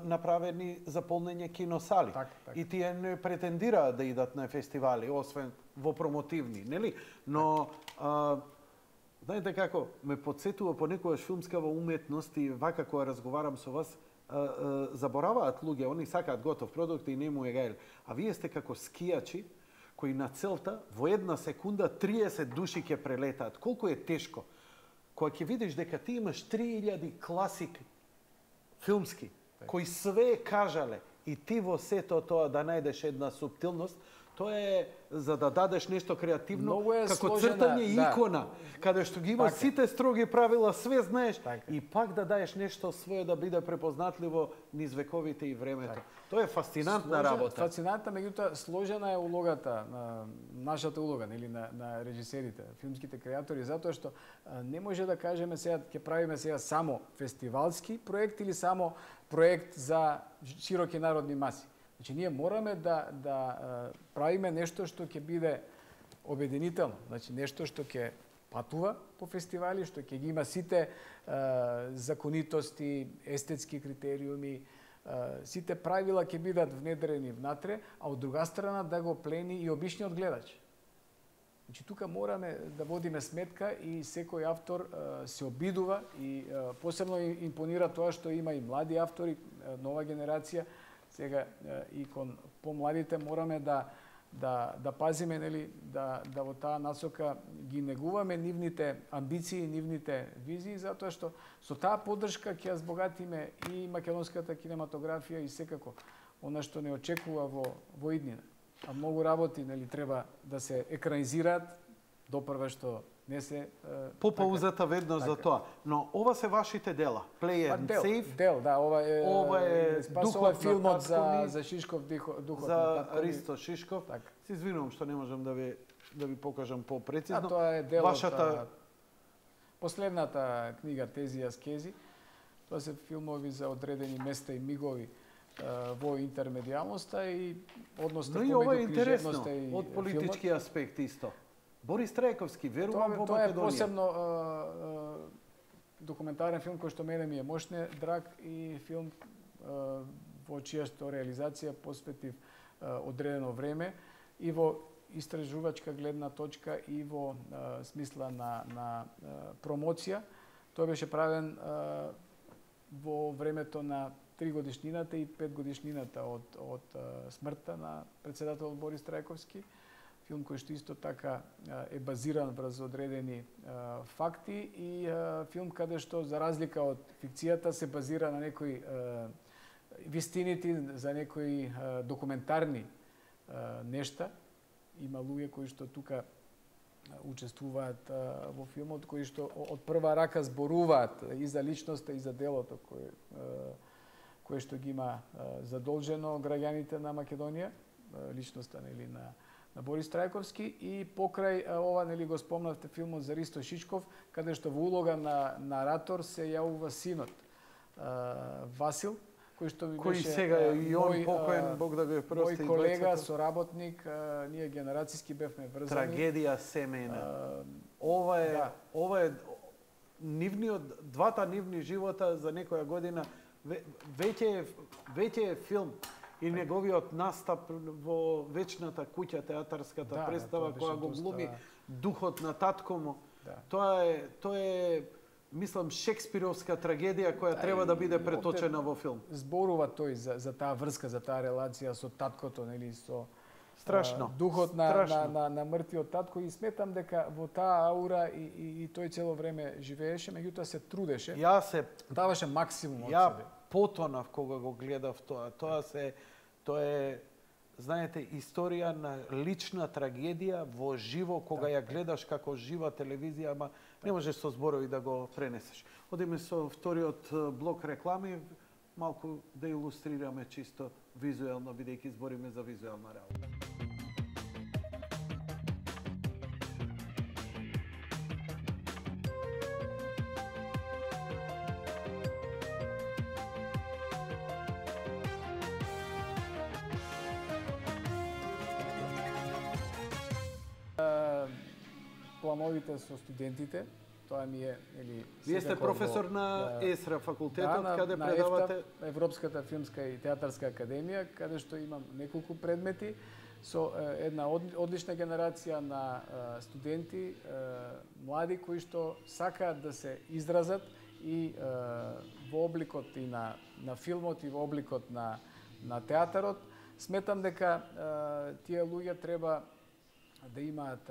направени за полнење киносали. Так. И тие не претендираат да идат на фестивали, освен во промотивни, нели? Но знаете како, ме подсетува понекогаш филмскава уметност и вака кога разговарам со вас, забораваат луѓе, они сакаат готов продукт и не му е гајле. А вие сте како скијачи кои на целта во една секунда 30 души ќе прелетаат. Колку е тешко кога ќе видиш дека ти имаш 3000 класики филмски кои све кажале и ти во сето тоа да најдеш една суптилност, Тоа е за да дадеш нешто креативно, како сложена, цртање икона, каде што ги има сите строги правила, све знаеш, и пак да даеш нешто свое да биде препознатливо низ вековите и времето. Тоа е фасцинантна работа. Фасцинантна, меѓутоа сложена е улогата, нашата улога, нели, на режисерите, филмските креатори, затоа што не може да кажеме сега ќе правиме сега само фестивалски проект или само проект за широки народни маси. Значи, ние мораме да правиме нешто што ќе биде обединително. Значи, нешто што ќе патува по фестивали, што ќе ги има сите законитости, естетски критериуми, сите правила ќе бидат внедрени внатре, а од друга страна да го плени и обичниот гледач. Значи, тука мораме да водиме сметка и секој автор се обидува и посебно импонира тоа што има и млади автори, нова генерација. Сега и кон помладите мораме да пазиме, нели, да во таа насока ги негуваме нивните амбиции, нивните визии, затоа што со таа поддршка ќе ја збогатиме и македонската кинематографија и секако она што не очекува во иднина. А многу работи, нели, треба да се екранизираат, допрва што не се попаузата веднаш за тоа. Но ова се вашите дела. Play and Save. Дел, да, ова е духот филмот за Шишков, духот за Ристо Шишков. Се извинувам што не можам да ви покажам попрецизно. Тоа е дел од последната книга Тези и аскези. Тоа се филмови за одредени места и мигови во интермедијалноста и односно помеѓу книжевноста и од политички аспект исто. Борис Трајковски, верувам во Македонија. Тоа е посебно документарен филм кој што мене ми е мошне драг и филм во чијашто реализација посветив одредено време и во истражувачка гледна точка и во смисла на промоција. Тој беше правен во времето на 3 годишнината и 5 годишнината од смртта на председателот Борис Трајковски. Филм кој што исто така е базиран врз одредени факти и филм каде што за разлика од фикцијата се базира на некои вистините, за некои документарни нешта. Има луѓе кои што тука учествуваат во филмот, кои што од прва рака зборуваат и за личноста и за делото кое што ги има задолжено граѓаните на Македонија, личноста, нели, на Борис Трајковски, и покрај ова, нели, го спомнавте филмот за Ристо Шишков, каде што во улога на наратор се јавува синот Васил, кој што ми беше сега и он покоен, Бог да го прости, мој колега, соработник, ние генерацијски бевме врзани. Трагедија семејна. Ова е двата нивни живота за некоја година веќе е филм. И неговиот настап во Вечната куќа, театарската представа која го глуми духот на татко му. Тоа е мислам Шекспировска трагедија која треба да биде преточена во филм. Зборува тој за таа врска, за таа релација со таткото, нели, со страшно. Духот на мртвиот татко, и сметам дека во таа аура и тој цело време живееше, меѓутоа се трудеше. Даваше максимум од себе. Потонав кога го гледав тоа. Тоа е, знаете, историја на лична трагедија во живо, кога ја гледаш како жива телевизија, ама не можеш со зборови да го пренесеш. Одиме со вториот блок реклами, малку да илустрираме чисто визуелно, бидејќи збориме за визуелна работа. Плановите со студентите, тоа ми е, или вие сте професор на ЕСРА факултетот, каде предавате Европската филмска и театарска академија, каде што имам неколку предмети со една одлична генерација на студенти, млади кои што сакаат да се изразат и во обликот и на филмот и во обликот на театарот. Сметам дека тие луѓе треба да имаат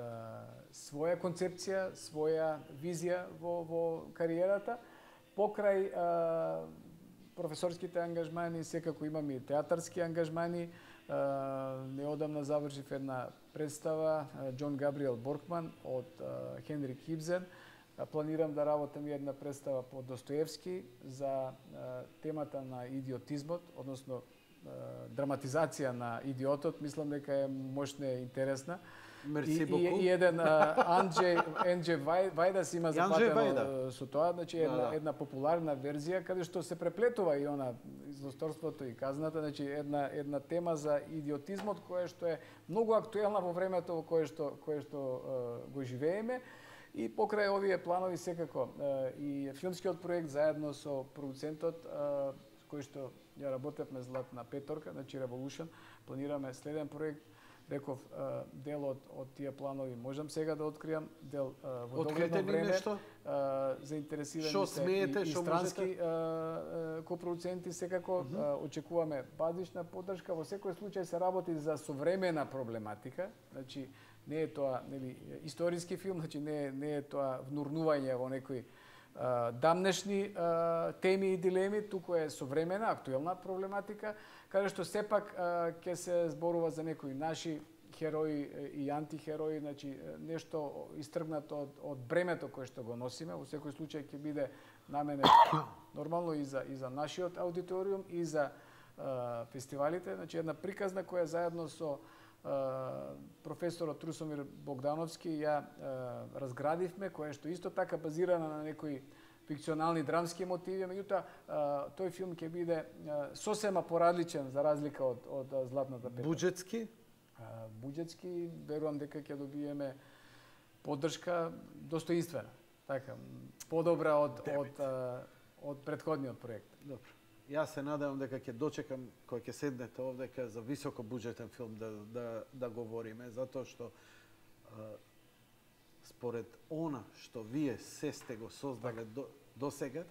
своја концепција, своја визија во кариерата. Покрај професорските ангажмани, секако имам и театарски ангажмани. Неодамна завршив една представа Џон Габриел Боркман од Хенрик Ибсен. Планирам да работам и една представа по Достоевски за темата на идиотизмот, односно драматизација на идиотот. Мислам дека е мощна и интересна. Мерси боку. И еден Анџе Вајдас има запатено со тоа, значи една популарна верзија каде што се преплетува и она злосторството и казната, значи една тема за идиотизмот која што е многу актуелна во времето во кое што го живееме. И покрај овие планови секако и филмскиот проект заедно со продуцентот кој што ја работевме Златна петорка, значи Revolution, планираме следен проект. Реков, дел од тие планови можам сега да откријам, дел во догледно време заинтересирани се и странски копродуценти секако. Очекуваме базична поддршка. Во секој случај се работи за современа проблематика, значи не е тоа историски филм, значи не е тоа внурнување во некои дамнешни теми и дилеми, туку е современа, актуелна проблематика, каде што сепак ќе се зборува за некои наши херои и антихерои, значи нешто истргнато од бремето кое што го носиме. Во секој случај ќе биде наменет нормално и за нашиот аудиториум и за фестивалите, значи една приказна која заедно со професорот Русомир Богдановски ја разградивме, која што исто така базирана на некои фикционални драмски мотиви, меѓутоа тој филм ќе биде сосема поразличен за разлика од Златната петорка. Буџетски? Буџетски, верувам дека ќе добиеме поддршка достоинствена, така, подобра од претходниот проект. Добро. Јас се надевам дека ќе дочекам кој ќе седнете овде за високо буџетен филм да говориме, затоа што според она што вие се сте го создале до сега,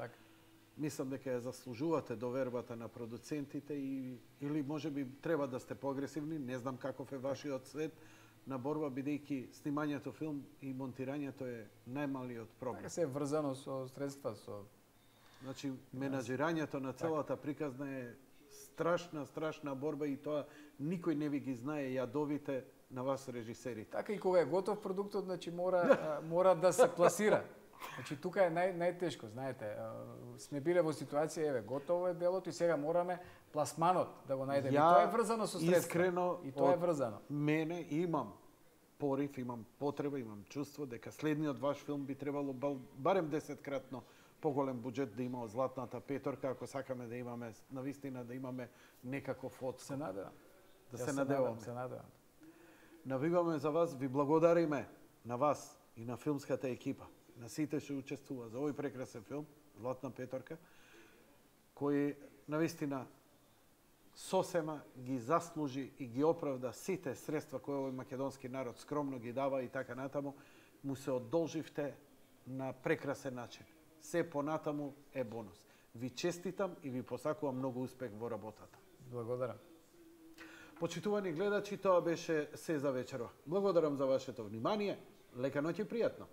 мислам дека ја заслужувате довербата на продуцентите или можеби треба да сте поагресивни, не знам каков е вашиот свет на борба, бидејќи снимањето филм и монтирањето е најмалиот проблем. Се е врзано со средства, со Значи, менаџирањето на целата приказна е страшна борба и тоа никој не ви ги знае јадовите на вас режисерите. Така и кога е готов продуктот, значи мора да се пласира. Значи тука е најтешко, знаете. Сме биле во ситуација, еве, готово е делото и сега мораме пласманот да го најдеме. И тоа е врзано со средства. Искрено, и тоа е врзано. Мене имам порив, имам потреба, имам чувство дека следниот ваш филм би требало барем 10-кратно поголем буџет да има од Златната петорка, ако сакаме да имаме навистина да имаме некаков одскок. Се надевам. Да се надеваме. Се надевам. Навиваме за вас, ви благодариме на вас и на филмската екипа, на сите што учествува за овој прекрасен филм Златна петорка, кој навистина сосема ги заслужи и ги оправда сите средства кои овој македонски народ скромно ги дава и така натаму, му се одолживте на прекрасен начин. Се понатаму е бонус. Ви честитам и ви посакувам многу успех во работата. Благодарам. Почитувани гледачи, тоа беше се за вечерва. Благодарам за вашето внимание. Лека ноќ и пријатно.